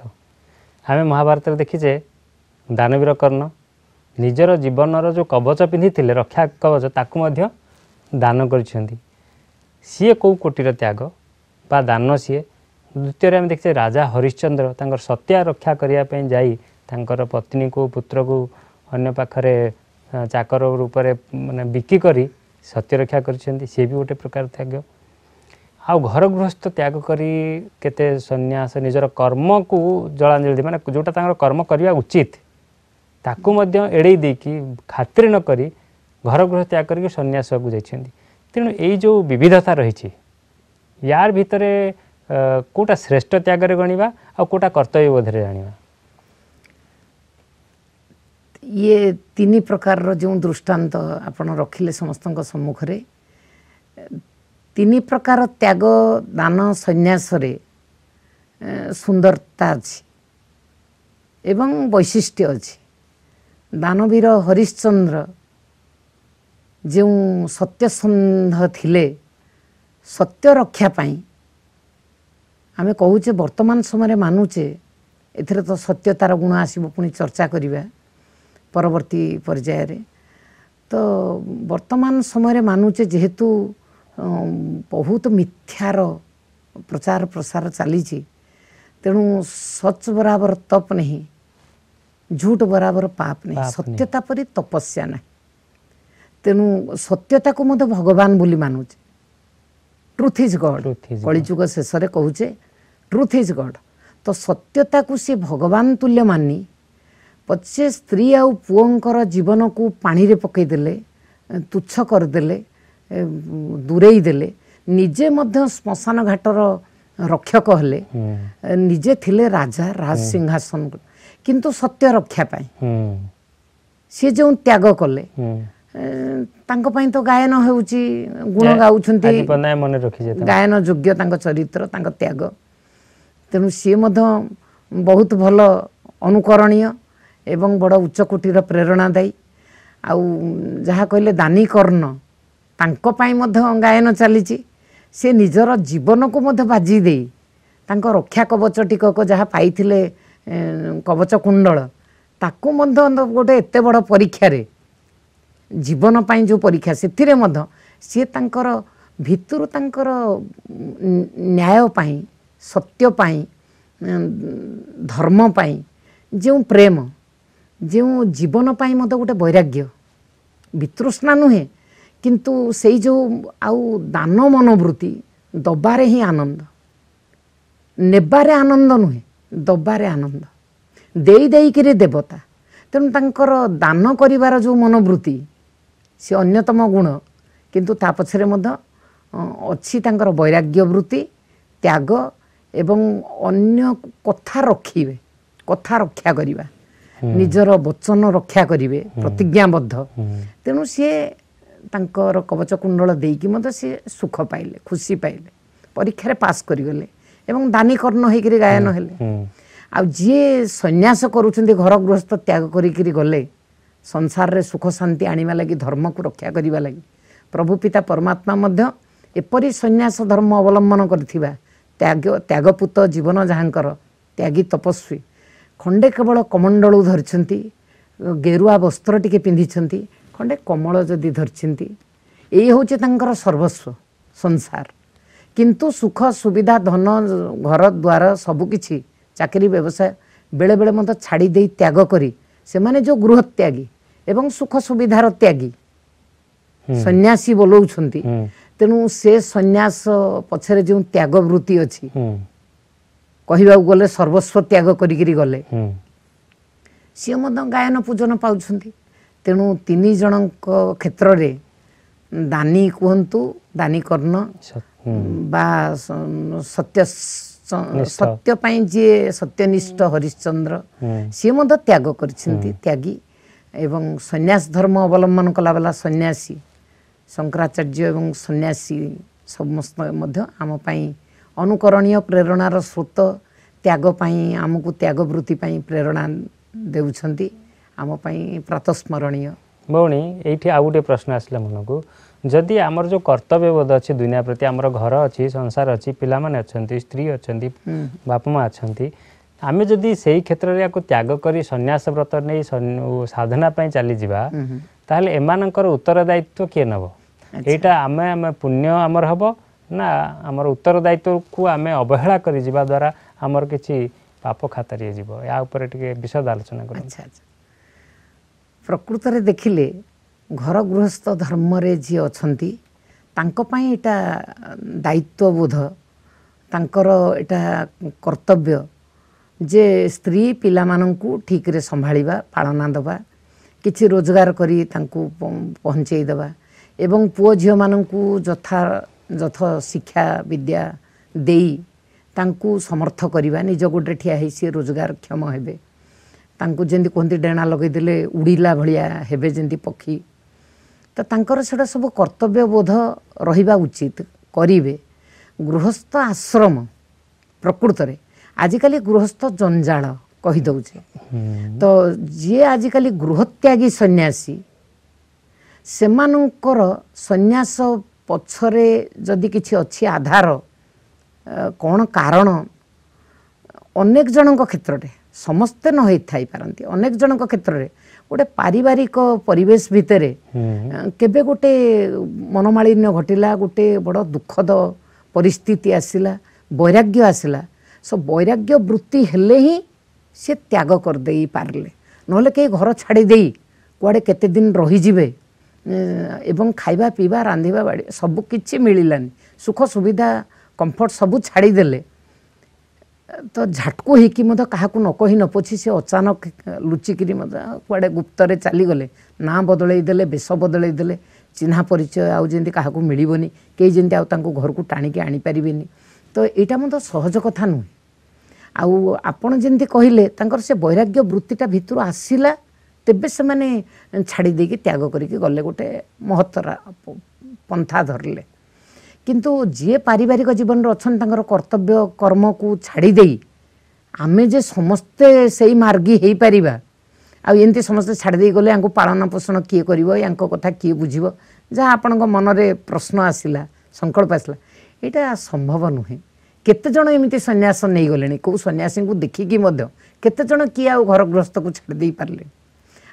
ଆମେ ମହାଭାରତରେ ଦେଖିଛେ ଦାନବୀର କର୍ଣ୍ଣ ନିଜର ଜୀବନର ଯେଉଁ କବଚ ପିନ୍ଧିଥିଲେ, ରକ୍ଷା କବଚ, ତାକୁ ମଧ୍ୟ ଦାନ କରିଛନ୍ତି। ସିଏ କେଉଁ କୋଟିର ତ୍ୟାଗ ବା ଦାନ ସିଏ। ଦ୍ୱିତୀୟରେ ଆମେ ଦେଖିଛେ ରାଜା ହରିଶ୍ଚନ୍ଦ୍ର ତାଙ୍କର ସତ୍ୟା ରକ୍ଷା କରିବା ପାଇଁ ଯାଇ ତାଙ୍କର ପତ୍ନୀକୁ, ପୁତ୍ରକୁ ଅନ୍ୟ ପାଖରେ ଚାକର ରୂପରେ ମାନେ ବିକି କରି ସତ୍ୟ ରକ୍ଷା କରିଛନ୍ତି। ସିଏ ବି ଗୋଟେ ପ୍ରକାର ତ୍ୟାଗ। ଆଉ ଘର ଗୃହସ୍ଥ ତ୍ୟାଗ କରି କେତେ ସନ୍ନ୍ୟାସ, ନିଜର କର୍ମକୁ ଜଳାଞ୍ଜଳି ଦେଇ, ମାନେ ଯେଉଁଟା ତାଙ୍କର କର୍ମ କରିବା ଉଚିତ ତାକୁ ମଧ୍ୟ ଏଡ଼େଇ ଦେଇକି ଖାତିର ନ କରି ଘର ଗୃହ ତ୍ୟାଗ କରିକି ସନ୍ନ୍ୟାସକୁ ଯାଇଛନ୍ତି। ତେଣୁ ଏଇ ଯେଉଁ ବିବିଧତା ରହିଛି, ୟାର ଭିତରେ କେଉଁଟା ଶ୍ରେଷ୍ଠ ତ୍ୟାଗରେ ଗଣିବା ଆଉ କେଉଁଟା କର୍ତ୍ତବ୍ୟ ବୋଧରେ ଜାଣିବା? ଇଏ ତିନି ପ୍ରକାରର ଯେଉଁ ଦୃଷ୍ଟାନ୍ତ ଆପଣ ରଖିଲେ ସମସ୍ତଙ୍କ ସମ୍ମୁଖରେ, ତିନି ପ୍ରକାର ତ୍ୟାଗ, ଦାନ, ସନ୍ନ୍ୟାସରେ ସୁନ୍ଦରତା ଅଛି ଏବଂ ବୈଶିଷ୍ଟ୍ୟ ଅଛି। ଦାନବୀର ହରିଶ୍ଚନ୍ଦ୍ର ଯେଉଁ ସତ୍ୟସନ୍ଧ ଥିଲେ, ସତ୍ୟ ରକ୍ଷା ପାଇଁ ଆମେ କହୁଛେ, ବର୍ତ୍ତମାନ ସମୟରେ ମାନୁଛେ, ଏଥିରେ ତ ସତ୍ୟତାର ଗୁଣ ଆସିବ, ପୁଣି ଚର୍ଚ୍ଚା କରିବା ପରବର୍ତ୍ତୀ ପର୍ଯ୍ୟାୟରେ। ତ ବର୍ତ୍ତମାନ ସମୟରେ ମାନୁଛେ, ଯେହେତୁ ବହୁତ ମିଥ୍ୟାର ପ୍ରଚାର ପ୍ରସାର ଚାଲିଛି, ତେଣୁ ସଚ୍ ବରାବର ତପ ନାହିଁ, ଝୁଟ ବରାବର ପାପ ନାହିଁ, ସତ୍ୟତା ପରି ତପସ୍ୟା ନାହିଁ। ତେଣୁ ସତ୍ୟତାକୁ ମଧ୍ୟ ଭଗବାନ ବୋଲି ମାନୁଛେ। ଟ୍ରୁଥ୍ is God, କଳିଯୁଗ ଶେଷରେ କହୁଛେ ଟ୍ରୁଥ୍ is God. ତ ସତ୍ୟତାକୁ ସେ ଭଗବାନ ତୁଲ୍ୟ ମାନି ପଛେ ସ୍ତ୍ରୀ ଆଉ ପୁଅଙ୍କର ଜୀବନକୁ ପାଣିରେ ପକାଇଦେଲେ, ତୁଚ୍ଛ କରିଦେଲେ, ଦୂରେଇ ଦେଲେ, ନିଜେ ମଧ୍ୟ ଶ୍ମଶାନ ଘାଟର ରକ୍ଷକ ହେଲେ। ନିଜେ ଥିଲେ ରାଜା, ରାଜ ସିଂହାସନ, କିନ୍ତୁ ସତ୍ୟ ରକ୍ଷା ପାଇଁ ସିଏ ଯେଉଁ ତ୍ୟାଗ କଲେ, ତାଙ୍କ ପାଇଁ ତ ଗାୟନ ହେଉଛି, ଗୁଣ ଗାଉଛନ୍ତି, ମନେ ରଖିଛି ଗାୟନ ଯୋଗ୍ୟ ତାଙ୍କ ଚରିତ୍ର, ତାଙ୍କ ତ୍ୟାଗ। ତେଣୁ ସିଏ ମଧ୍ୟ ବହୁତ ଭଲ ଅନୁକରଣୀୟ ଏବଂ ବଡ଼ ଉଚ୍ଚକୋଟୀର ପ୍ରେରଣାଦାୟୀ। ଆଉ ଯାହା କହିଲେ ଦାନୀ କର୍ଣ୍ଣ, ତାଙ୍କ ପାଇଁ ମଧ୍ୟ ଗାୟନ ଚାଲିଛି। ସେ ନିଜର ଜୀବନକୁ ମଧ୍ୟ ବାଜି ଦେଇ ତାଙ୍କ ରକ୍ଷା କବଚ ଟିକକ ଯାହା ପାଇଥିଲେ, କବଚ କୁଣ୍ଡଳ, ତାକୁ ମଧ୍ୟ ଗୋଟେ ଏତେ ବଡ଼ ପରୀକ୍ଷାରେ, ଜୀବନ ପାଇଁ ଯେଉଁ ପରୀକ୍ଷା, ସେଥିରେ ମଧ୍ୟ ସିଏ ତାଙ୍କର ଭିତରୁ ତାଙ୍କର ନ୍ୟାୟ ପାଇଁ, ସତ୍ୟ ପାଇଁ, ଧର୍ମ ପାଇଁ ଯେଉଁ ପ୍ରେମ, ଯେଉଁ ଜୀବନ ପାଇଁ ମଧ୍ୟ ଗୋଟେ ବୈରାଗ୍ୟ, ବିତୃଷ୍ଣା ନୁହେଁ, କିନ୍ତୁ ସେଇ ଯେଉଁ ଆଉ ଦାନ ମନୋବୃତ୍ତି, ଦବାରେ ହିଁ ଆନନ୍ଦ, ନେବାରେ ଆନନ୍ଦ ନୁହେଁ, ଦବାରେ ଆନନ୍ଦ, ଦେଇ ଦେଇକିରି ଦେବତା। ତେଣୁ ତାଙ୍କର ଦାନ କରିବାର ଯେଉଁ ମନୋବୃତ୍ତି, ସେ ଅନ୍ୟତମ ଗୁଣ, କିନ୍ତୁ ତା ପଛରେ ମଧ୍ୟ ଅଛି ତାଙ୍କର ବୈରାଗ୍ୟ ବୃତ୍ତି, ତ୍ୟାଗ ଏବଂ ଅନ୍ୟ କଥା ରଖିବେ, କଥା ରକ୍ଷା କରିବା, ନିଜର ବଚନ ରକ୍ଷା କରିବେ, ପ୍ରତିଜ୍ଞାବଦ୍ଧ। ତେଣୁ ସିଏ ତାଙ୍କର କବଚ କୁଣ୍ଡଳ ଦେଇକି ମଧ୍ୟ ସିଏ ସୁଖ ପାଇଲେ, ଖୁସି ପାଇଲେ, ପରୀକ୍ଷାରେ ପାସ୍ କରିଗଲେ ଏବଂ ଦାନୀ କର୍ଣ୍ଣ ହେଇକିରି ଗାୟନ ହେଲେ। ଆଉ ଯିଏ ସନ୍ନ୍ୟାସ କରୁଛନ୍ତି, ଘର ଗୃହସ୍ଥ ତ୍ୟାଗ କରିକିରି ଗଲେ ସଂସାରରେ ସୁଖ ଶାନ୍ତି ଆଣିବା ଲାଗି, ଧର୍ମକୁ ରକ୍ଷା କରିବା ଲାଗି, ପ୍ରଭୁ ପିତା ପରମାତ୍ମା ମଧ୍ୟ ଏପରି ସନ୍ନ୍ୟାସ ଧର୍ମ ଅବଲମ୍ବନ କରିଥିବା ତ୍ୟାଗ, ତ୍ୟାଗପୁତ ଜୀବନ ଯାହାଙ୍କର, ତ୍ୟାଗୀ ତପସ୍ୱୀ, ଖଣ୍ଡେ କେବଳ କମଣ୍ଡଳୁ ଧରିଛନ୍ତି, ଗେରୁଆ ବସ୍ତ୍ର ଟିକେ ପିନ୍ଧିଛନ୍ତି, ଖଣ୍ଡେ କମଳ ଯଦି ଧରିଛନ୍ତି, ଏଇ ହେଉଛି ତାଙ୍କର ସର୍ବସ୍ୱ ସଂସାର। କିନ୍ତୁ ସୁଖ ସୁବିଧା, ଧନ, ଘର ଦ୍ୱାର ସବୁକିଛି, ଚାକିରି ବ୍ୟବସାୟ ବେଳେବେଳେ ମଧ୍ୟ ଛାଡ଼ି ଦେଇ ତ୍ୟାଗ କରି ସେମାନେ ଯେଉଁ ଗୃହତ୍ୟାଗୀ ଏବଂ ସୁଖ ସୁବିଧାର ତ୍ୟାଗୀ ସନ୍ନ୍ୟାସୀ ବୋଲଉଛନ୍ତି, ତେଣୁ ସେ ସନ୍ନ୍ୟାସ ପଛରେ ଯେଉଁ ତ୍ୟାଗ ବୃତ୍ତି ଅଛି, କହିବାକୁ ଗଲେ ସର୍ବସ୍ୱ ତ୍ୟାଗ କରିକିରି ଗଲେ, ସିଏ ମଧ୍ୟ ଗାୟନ ପୂଜନ ପାଉଛନ୍ତି। ତେଣୁ ତିନି ଜଣଙ୍କ କ୍ଷେତ୍ରରେ ଦାନୀ କୁହନ୍ତୁ, ଦାନୀ କର୍ଣ୍ଣ ବା ସତ୍ୟ, ସତ୍ୟ ପାଇଁ ଯିଏ ସତ୍ୟନିଷ୍ଠ ହରିଶ୍ଚନ୍ଦ୍ର, ସିଏ ମଧ୍ୟ ତ୍ୟାଗ କରିଛନ୍ତି, ତ୍ୟାଗୀ, ଏବଂ ସନ୍ନ୍ୟାସ ଧର୍ମ ଅବଲମ୍ବନ କଲାବାଲା ସନ୍ନ୍ୟାସୀ ଶଙ୍କରାଚାର୍ଯ୍ୟ ଏବଂ ସନ୍ନ୍ୟାସୀ ସମସ୍ତ ମଧ୍ୟ ଆମ ପାଇଁ ଅନୁକରଣୀୟ ପ୍ରେରଣାର ସ୍ରୋତ, ତ୍ୟାଗ ପାଇଁ ଆମକୁ ତ୍ୟାଗ ବୃତ୍ତି ପାଇଁ ପ୍ରେରଣା ଦେଉଛନ୍ତି, ଆମ ପାଇଁ ପ୍ରାତସ୍ମରଣୀୟ। ଭଉଣୀ, ଏଇଠି ଆଉ ଗୋଟିଏ ପ୍ରଶ୍ନ ଆସିଲା ମନକୁ। ଯଦି ଆମର ଯେଉଁ କର୍ତ୍ତବ୍ୟବୋଧ ଅଛି ଦୁନିଆ ପ୍ରତି, ଆମର ଘର ଅଛି, ସଂସାର ଅଛି, ପିଲାମାନେ ଅଛନ୍ତି, ସ୍ତ୍ରୀ ଅଛନ୍ତି, ବାପା ମା ଅଛନ୍ତି, ଆମେ ଯଦି ସେଇ କ୍ଷେତ୍ରରେ ୟାକୁ ତ୍ୟାଗ କରି ସନ୍ନ୍ୟାସ ବ୍ରତ ନେଇ ସାଧନା ପାଇଁ ଚାଲିଯିବା, ତାହେଲେ ଏମାନଙ୍କର ଉତ୍ତରଦାୟିତ୍ୱ କିଏ ନେବ? ଏଇଟା ଆମେ ଆମେ ପୁଣ୍ୟ ଆମର ହେବ ନା ଆମର ଉତ୍ତରଦାୟିତ୍ୱକୁ ଆମେ ଅବହେଳା କରିଯିବା ଦ୍ୱାରା ଆମର କିଛି ପାପ ଖାତାରେ ଯିବ? ୟା ଉପରେ ଟିକେ ବିଶଦ ଆଲୋଚନା କରନ୍ତୁ। ଆଚ୍ଛା ଆଚ୍ଛା। ପ୍ରକୃତରେ ଦେଖିଲେ ଘର ଗୃହସ୍ଥ ଧର୍ମରେ ଯିଏ ଅଛନ୍ତି ତାଙ୍କ ପାଇଁ ଏଇଟା ଦାୟିତ୍ୱବୋଧ, ତାଙ୍କର ଏଇଟା କର୍ତ୍ତବ୍ୟ ଯେ ସ୍ତ୍ରୀ ପିଲାମାନଙ୍କୁ ଠିକରେ ସମ୍ଭାଳିବା, ପାଳନା ଦେବା, କିଛି ରୋଜଗାର କରି ତାଙ୍କୁ ପହଞ୍ଚେଇ ଦେବା ଏବଂ ପୁଅ ଝିଅମାନଙ୍କୁ ଯଥାଯଥ ଶିକ୍ଷା ବିଦ୍ୟା ଦେଇ ତାଙ୍କୁ ସମର୍ଥ କରିବା, ନିଜ ଗୋଡ଼ରେ ଠିଆ ହେଇ ସିଏ ରୋଜଗାରକ୍ଷମ ହେବେ, ତାଙ୍କୁ ଯେମିତି କୁହନ୍ତି ଡେଣା ଲଗେଇଦେଲେ ଉଡ଼ିଲା ଭଳିଆ ହେବେ ଯେମିତି ପକ୍ଷୀ, ତ ତାଙ୍କର ସେଇଟା ସବୁ କର୍ତ୍ତବ୍ୟବୋଧ ରହିବା ଉଚିତ, କରିବେ। ଗୃହସ୍ଥ ଆଶ୍ରମ ପ୍ରକୃତରେ ଆଜିକାଲି ଗୃହସ୍ଥ ଜଞ୍ଜାଳ କହିଦେଉଛେ, ତ ଯିଏ ଆଜିକାଲି ଗୃହତ୍ୟାଗୀ ସନ୍ନ୍ୟାସୀ, ସେମାନଙ୍କର ସନ୍ନ୍ୟାସ ପଛରେ ଯଦି କିଛି ଅଛି ଆଧାର, କ'ଣ କାରଣ, ଅନେକ ଜଣଙ୍କ କ୍ଷେତ୍ରରେ, ସମସ୍ତେ ନ ହେଇଥାଇପାରନ୍ତି, ଅନେକ ଜଣଙ୍କ କ୍ଷେତ୍ରରେ ଗୋଟେ ପାରିବାରିକ ପରିବେଶ ଭିତରେ କେବେ ଗୋଟେ ମନୋମାଳିନ୍ୟ ଘଟିଲା, ଗୋଟେ ବଡ଼ ଦୁଃଖଦ ପରିସ୍ଥିତି ଆସିଲା, ବୈରାଗ୍ୟ ଆସିଲା। ସୋ ବୈରାଗ୍ୟ ବୃତ୍ତି ହେଲେ ହିଁ ସେ ତ୍ୟାଗ କରିଦେଇ ପାରିଲେ, ନହେଲେ କେହି ଘର ଛାଡ଼ି ଦେଇ କୁଆଡ଼େ କେତେ ଦିନ ରହିଯିବେ ଏବଂ ଖାଇବା ପିଇବା ରାନ୍ଧିବା ବାଢ଼ିବା ସବୁ କିଛି ମିଳିଲାନି, ସୁଖ ସୁବିଧା କମ୍ଫର୍ଟ ସବୁ ଛାଡ଼ିଦେଲେ, ତ ଝାଟକୁ ହେଇକି ମଧ୍ୟ କାହାକୁ ନ କହି ନ ପୋଛି ସେ ଅଚାନକ ଲୁଚିକିରି ମଧ୍ୟ କୁଆଡ଼େ ଗୁପ୍ତରେ ଚାଲିଗଲେ, ନାଁ ବଦଳେଇ ଦେଲେ, ବେଶ ବଦଳେଇ ଦେଲେ, ଚିହ୍ନା ପରିଚୟ ଆଉ ଯେମିତି କାହାକୁ ମିଳିବନି, କେହି ଯେମିତି ଆଉ ତାଙ୍କୁ ଘରକୁ ଟାଣିକି ଆଣିପାରିବେନି, ତ ଏଇଟା ମଧ୍ୟ ସହଜ କଥା ନୁହେଁ। ଆଉ ଆପଣ ଯେମିତି କହିଲେ ତାଙ୍କର ସେ ବୈରାଗ୍ୟ ବୃତ୍ତିଟା ଭିତରୁ ଆସିଲା, ତେବେ ସେମାନେ ଛାଡ଼ି ଦେଇକି ତ୍ୟାଗ କରିକି ଗଲେ, ଗୋଟେ ମହତ୍ତର ପନ୍ଥା ଧରିଲେ। କିନ୍ତୁ ଯିଏ ପାରିବାରିକ ଜୀବନରେ ଅଛନ୍ତି ତାଙ୍କର କର୍ତ୍ତବ୍ୟ କର୍ମକୁ ଛାଡ଼ି ଦେଇ ଆମେ ଯେ ସମସ୍ତେ ସେଇ ମାର୍ଗୀ ହେଇପାରିବା, ଆଉ ଏମିତି ସମସ୍ତେ ଛାଡ଼ି ଦେଇ ଗଲେ ୟାଙ୍କୁ ପାଳନ ପୋଷଣ କିଏ କରିବ, ୟାଙ୍କ କଥା କିଏ ବୁଝିବ, ଯାହା ଆପଣଙ୍କ ମନରେ ପ୍ରଶ୍ନ ଆସିଲା, ସଂକଳ୍ପ ଆସିଲା, ଏଇଟା ସମ୍ଭବ ନୁହେଁ। କେତେଜଣ ଏମିତି ସନ୍ନ୍ୟାସ ନେଇଗଲେଣି, କେଉଁ ସନ୍ନ୍ୟାସୀଙ୍କୁ ଦେଖିକି ମଧ୍ୟ କେତେଜଣ କିଏ ଆଉ ଘର ଗୃହସ୍ଥକୁ ଛାଡ଼ି ଦେଇପାରିଲେ।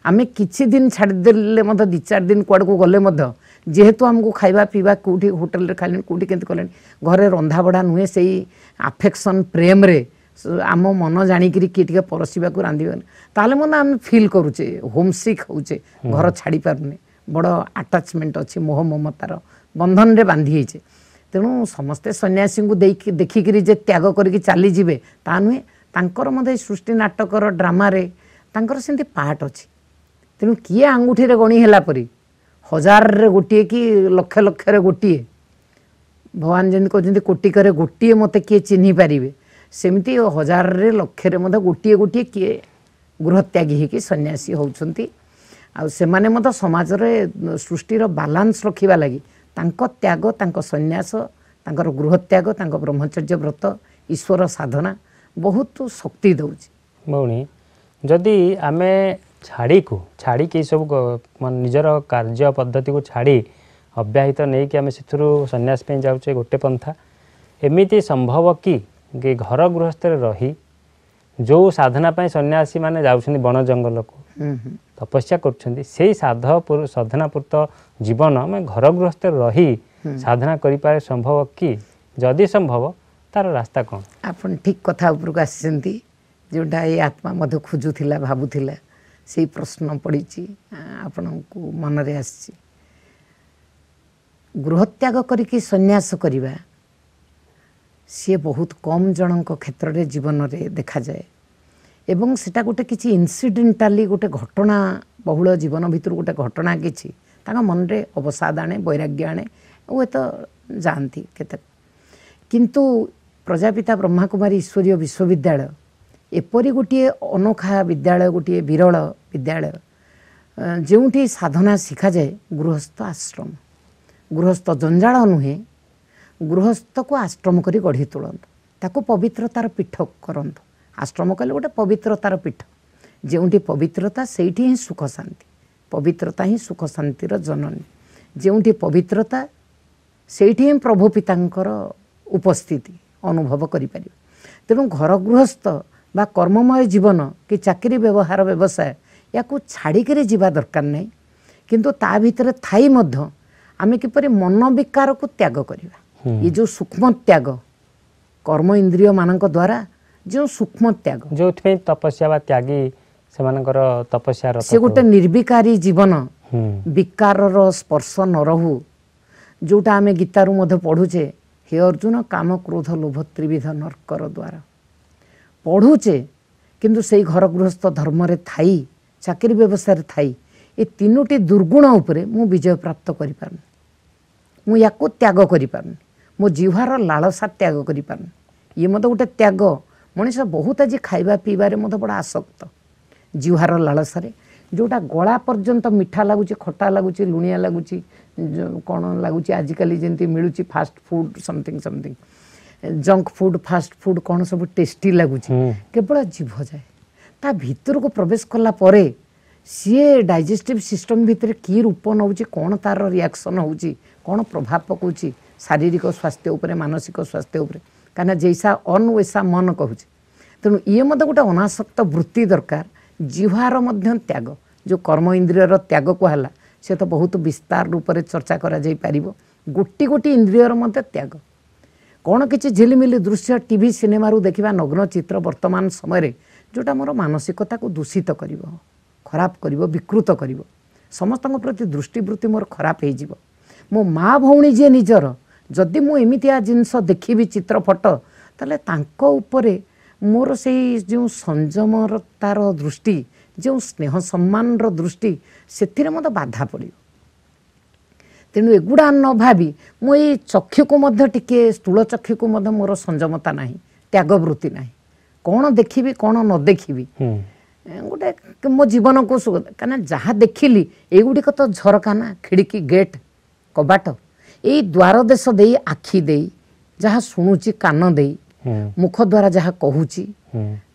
ଆମେ କିଛି ଦିନ ଛାଡ଼ିଦେଲେ ମଧ୍ୟ, 2-4 ଦିନ କୁଆଡ଼କୁ ଗଲେ ମଧ୍ୟ, ଯେହେତୁ ଆମକୁ ଖାଇବା ପିଇବା କେଉଁଠି ହୋଟେଲରେ ଖାଇଲେଣି, କେଉଁଠି କେମିତି କଲେଣି, ଘରେ ରନ୍ଧାବଢ଼ା ନୁହେଁ, ସେଇ ଆଫେକ୍ସନ୍ ପ୍ରେମରେ ଆମ ମନ ଜାଣିକିରି କିଏ ଟିକେ ପରସିବାକୁ ରାନ୍ଧିବନି, ତାହେଲେ ମଧ୍ୟ ଆମେ ଫିଲ୍ କରୁଛେ, ହୋମସିକ୍ ହେଉଛେ, ଘର ଛାଡ଼ି ପାରୁନେ, ବଡ଼ ଆଟାଚମେଣ୍ଟ ଅଛି, ମୋହ ମମତାର ବନ୍ଧନରେ ବାନ୍ଧି ହେଇଛେ। ତେଣୁ ସମସ୍ତେ ସନ୍ନ୍ୟାସୀଙ୍କୁ ଦେଇକି ଦେଖିକିରି ଯେ ତ୍ୟାଗ କରିକି ଚାଲିଯିବେ ତା ନୁହେଁ। ତାଙ୍କର ମଧ୍ୟ ସୃଷ୍ଟି ନାଟକର ଡ୍ରାମାରେ ତାଙ୍କର ସେମିତି ପାର୍ଟ ଅଛି। ତେଣୁ କିଏ ଆଙ୍ଗୁଠିରେ ଗଣି ହେଲା ପରି ହଜାରରେ ଗୋଟିଏ କି ଲକ୍ଷ ଲକ୍ଷରେ ଗୋଟିଏ, ଭଗବାନ ଯେମିତି କହୁଛନ୍ତି କୋଟିକରେ ଗୋଟିଏ ମୋତେ କିଏ ଚିହ୍ନି ପାରିବେ, ସେମିତି ହଜାରରେ ଲକ୍ଷରେ ମଧ୍ୟ ଗୋଟିଏ ଗୋଟିଏ କିଏ ଗୃହତ୍ୟାଗୀ ହେଇକି ସନ୍ନ୍ୟାସୀ ହେଉଛନ୍ତି। ଆଉ ସେମାନେ ମଧ୍ୟ ସମାଜରେ ସୃଷ୍ଟିର ବାଲାନ୍ସ ରଖିବା ଲାଗି ତାଙ୍କ ତ୍ୟାଗ, ତାଙ୍କ ସନ୍ନ୍ୟାସ, ତାଙ୍କର ଗୃହତ୍ୟାଗ, ତାଙ୍କ ବ୍ରହ୍ମଚର୍ଯ୍ୟ ବ୍ରତ, ଈଶ୍ୱର ସାଧନା ବହୁତ ଶକ୍ତି ଦେଉଛି। ଭଉଣୀ, ଯଦି ଆମେ ଛାଡ଼ିକି ସବୁ ମାନେ ନିଜର କାର୍ଯ୍ୟ ପଦ୍ଧତିକୁ ଛାଡ଼ି ଅବ୍ୟାହିତ ନେଇକି ଆମେ ସେଥିରୁ ସନ୍ନ୍ୟାସ ପାଇଁ ଯାଉଛେ ଗୋଟେ ପନ୍ଥା, ଏମିତି ସମ୍ଭବ କି ଘର ଗୃହସ୍ଥରେ ରହି ଯେଉଁ ସାଧନା ପାଇଁ ସନ୍ନ୍ୟାସୀମାନେ ଯାଉଛନ୍ତି ବଣ ଜଙ୍ଗଲକୁ ତପସ୍ୟା କରୁଛନ୍ତି, ସେଇ ସାଧନାପୂର୍ତ୍ତ ଜୀବନ ଆମେ ଘର ଗୃହସ୍ଥରେ ରହି ସାଧନା କରିପାରେ ସମ୍ଭବ କି? ଯଦି ସମ୍ଭବ ତାର ରାସ୍ତା କ'ଣ? ଆପଣ ଠିକ୍ କଥା ଉପରକୁ ଆସିଛନ୍ତି, ଯେଉଁଟା ଏଇ ଆତ୍ମା ମଧ୍ୟ ଖୋଜୁଥିଲା, ଭାବୁଥିଲା, ସେଇ ପ୍ରଶ୍ନ ପଡ଼ିଛି ଆପଣଙ୍କୁ ମନରେ ଆସିଛି। ଗୃହତ୍ୟାଗ କରିକି ସନ୍ନ୍ୟାସ କରିବା ସିଏ ବହୁତ କମ୍ ଜଣଙ୍କ କ୍ଷେତ୍ରରେ ଜୀବନରେ ଦେଖାଯାଏ, ଏବଂ ସେଟା ଗୋଟେ କିଛି ଇନସିଡେଣ୍ଟାଲି ଗୋଟେ ଘଟଣା ବହୁଳ ଜୀବନ ଭିତରୁ ଗୋଟେ ଘଟଣା କିଛି ତାଙ୍କ ମନରେ ଅବସାଦ ଆଣେ, ବୈରାଗ୍ୟ ଆଣେ, ହୁଏତ ଯାଆନ୍ତି କେତେକ। କିନ୍ତୁ ପ୍ରଜାପିତା ବ୍ରହ୍ମାକୁମାରୀ ଈଶ୍ୱରୀୟ ବିଶ୍ୱବିଦ୍ୟାଳୟ ଏପରି ଗୋଟିଏ ଅନୋଖା ବିଦ୍ୟାଳୟ, ଗୋଟିଏ ବିରଳ ବିଦ୍ୟାଳୟ, ଯେଉଁଠି ସାଧନା ଶିଖାଯାଏ ଗୃହସ୍ଥ ଆଶ୍ରମ। ଗୃହସ୍ଥ ଜଞ୍ଜାଳ ନୁହେଁ, ଗୃହସ୍ଥକୁ ଆଶ୍ରମ କରି ଗଢ଼ି ତୋଳନ୍ତୁ, ତାକୁ ପବିତ୍ରତାର ପୀଠ କରନ୍ତୁ। ଆଶ୍ରମ କହିଲେ ଗୋଟେ ପବିତ୍ରତାର ପୀଠ, ଯେଉଁଠି ପବିତ୍ରତା ସେଇଠି ହିଁ ସୁଖ ଶାନ୍ତି, ପବିତ୍ରତା ହିଁ ସୁଖ ଶାନ୍ତିର ଜନନୀ। ଯେଉଁଠି ପବିତ୍ରତା ସେଇଠି ହିଁ ପ୍ରଭୁ ପିତାଙ୍କର ଉପସ୍ଥିତି ଅନୁଭବ କରିପାରିବେ। ତେଣୁ ଘର ଗୃହସ୍ଥ ବା କର୍ମମୟ ଜୀବନ କି ଚାକିରି ବ୍ୟବହାର ବ୍ୟବସାୟ ୟାକୁ ଛାଡ଼ିକିରି ଯିବା ଦରକାର ନାହିଁ, କିନ୍ତୁ ତା ଭିତରେ ଥାଇ ମଧ୍ୟ ଆମେ କିପରି ମନ ବିକାରକୁ ତ୍ୟାଗ କରିବା। ଏ ଯେଉଁ ସୂକ୍ଷ୍ମ ତ୍ୟାଗ କର୍ମ ଇନ୍ଦ୍ରିୟମାନଙ୍କ ଦ୍ୱାରା ଯେଉଁ ସୂକ୍ଷ୍ମ ତ୍ୟାଗ, ଯେଉଁଥିପାଇଁ ତପସ୍ୟା ବା ତ୍ୟାଗୀ ସେମାନଙ୍କର ତପସ୍ୟା, ସେ ଗୋଟେ ନିର୍ବିକାରୀ ଜୀବନ, ବିକାରର ସ୍ପର୍ଶ ନ ରହୁ, ଯେଉଁଟା ଆମେ ଗୀତାରୁ ମଧ୍ୟ ପଢ଼ୁଛେ, ହେ ଅର୍ଜୁନ କାମ କ୍ରୋଧ ଲୋଭ ତ୍ରିବିଧ ନର୍କର ଦ୍ୱାର ପଢ଼ୁଛେ, କିନ୍ତୁ ସେଇ ଘର ଗୃହସ୍ଥ ଧର୍ମରେ ଥାଇ, ଚାକିରି ବ୍ୟବସାୟରେ ଥାଇ ଏ ତିନୋଟି ଦୁର୍ଗୁଣ ଉପରେ ମୁଁ ବିଜୟ ପ୍ରାପ୍ତ କରିପାରୁନି, ମୁଁ ୟାକୁ ତ୍ୟାଗ କରିପାରୁନି, ମୋ ଜିହ୍ୱାର ଲାଳସା ତ୍ୟାଗ କରିପାରୁନି। ଇଏ ମଧ୍ୟ ଗୋଟେ ତ୍ୟାଗ। ମଣିଷ ବହୁତ ଆଜି ଖାଇବା ପିଇବାରେ ମଧ୍ୟ ବଡ଼ ଆସକ୍ତ, ଜିହ୍ୱାର ଲାଳସାରେ, ଯେଉଁଟା ଗଳା ପର୍ଯ୍ୟନ୍ତ ମିଠା ଲାଗୁଛି, ଖଟା ଲାଗୁଛି, ଲୁଣିଆ ଲାଗୁଛି, କ'ଣ ଲାଗୁଛି, ଆଜିକାଲି ଯେମିତି ମିଳୁଛି fast food, something something, junk food, fast food, କ'ଣ ସବୁ ଟେଷ୍ଟି ଲାଗୁଛି, କେବଳ ଜିଭ ଯାଏ। ତା ଭିତରକୁ ପ୍ରବେଶ କଲା ପରେ ସିଏ ଡାଇଜେଷ୍ଟିଭ୍ ସିଷ୍ଟମ୍ ଭିତରେ କି ରୂପ ନେଉଛି, କ'ଣ ତାର ରିଆକ୍ସନ୍ ହେଉଛି, କ'ଣ ପ୍ରଭାବ ପକାଉଛି ଶାରୀରିକ ସ୍ୱାସ୍ଥ୍ୟ ଉପରେ, ମାନସିକ ସ୍ୱାସ୍ଥ୍ୟ ଉପରେ, କାହିଁକିନା ଜୈସା ଅନ୍ ୱେସା ମନ କହୁଛି। ତେଣୁ ଇଏ ମଧ୍ୟ ଗୋଟେ ଅନାସକ୍ତ ବୃତ୍ତି ଦରକାର, ଜିହ୍ୱାର ମଧ୍ୟ ତ୍ୟାଗ, ଯେଉଁ କର୍ମ ଇନ୍ଦ୍ରିୟର ତ୍ୟାଗ କୁହାହେଲା ସେ ତ ବହୁତ ବିସ୍ତାର ରୂପରେ ଚର୍ଚ୍ଚା କରାଯାଇପାରିବ। ଗୋଟି ଗୋଟି ଇନ୍ଦ୍ରିୟର ମଧ୍ୟ ତ୍ୟାଗ। କ'ଣ କିଛି ଝିଲିମିଲି ଦୃଶ୍ୟ ଟିଭି ସିନେମାରୁ ଦେଖିବା ନଗ୍ନ ଚିତ୍ର ବର୍ତ୍ତମାନ ସମୟରେ, ଯେଉଁଟା ମୋର ମାନସିକତାକୁ ଦୂଷିତ କରିବ, ଖରାପ କରିବ, ବିକୃତ କରିବ, ସମସ୍ତଙ୍କ ପ୍ରତି ଦୃଷ୍ଟିବୃତ୍ତି ମୋର ଖରାପ ହେଇଯିବ। ମୋ ମା ଭଉଣୀ ଯିଏ ନିଜର, ଯଦି ମୁଁ ଏମିତିଆ ଜିନିଷ ଦେଖିବି ଚିତ୍ର ଫଟୋ, ତାହେଲେ ତାଙ୍କ ଉପରେ ମୋର ସେଇ ଯେଉଁ ସଂଯମର ତାର ଦୃଷ୍ଟି, ଯେଉଁ ସ୍ନେହ ସମ୍ମାନର ଦୃଷ୍ଟି, ସେଥିରେ ମୋତେ ବାଧା ପଡ଼ିବ। ତେଣୁ ଏଗୁଡ଼ା ନ ଭାବି ମୁଁ ଏଇ ଚକ୍ଷୁକୁ ମଧ୍ୟ ଟିକେ, ସ୍ଥୂଳ ଚକ୍ଷୁକୁ ମଧ୍ୟ ମୋର ସଂଯମତା ନାହିଁ, ତ୍ୟାଗବୃତ୍ତି ନାହିଁ। କ'ଣ ଦେଖିବି କ'ଣ ନ ଦେଖିବି ଗୋଟେ ମୋ ଜୀବନକୁ, କାହିଁକିନା ଯାହା ଦେଖିଲି ଏଇଗୁଡ଼ିକ ତ ଝରକା ନା, ଖିଡ଼ିକି, ଗେଟ୍, କବାଟ, ଏଇ ଦ୍ୱାର ଦେଶ ଦେଇ ଆଖି ଦେଇ ଯାହା ଶୁଣୁଛି, କାନ ଦେଇ, ମୁଖ ଦ୍ୱାରା ଯାହା କହୁଛି,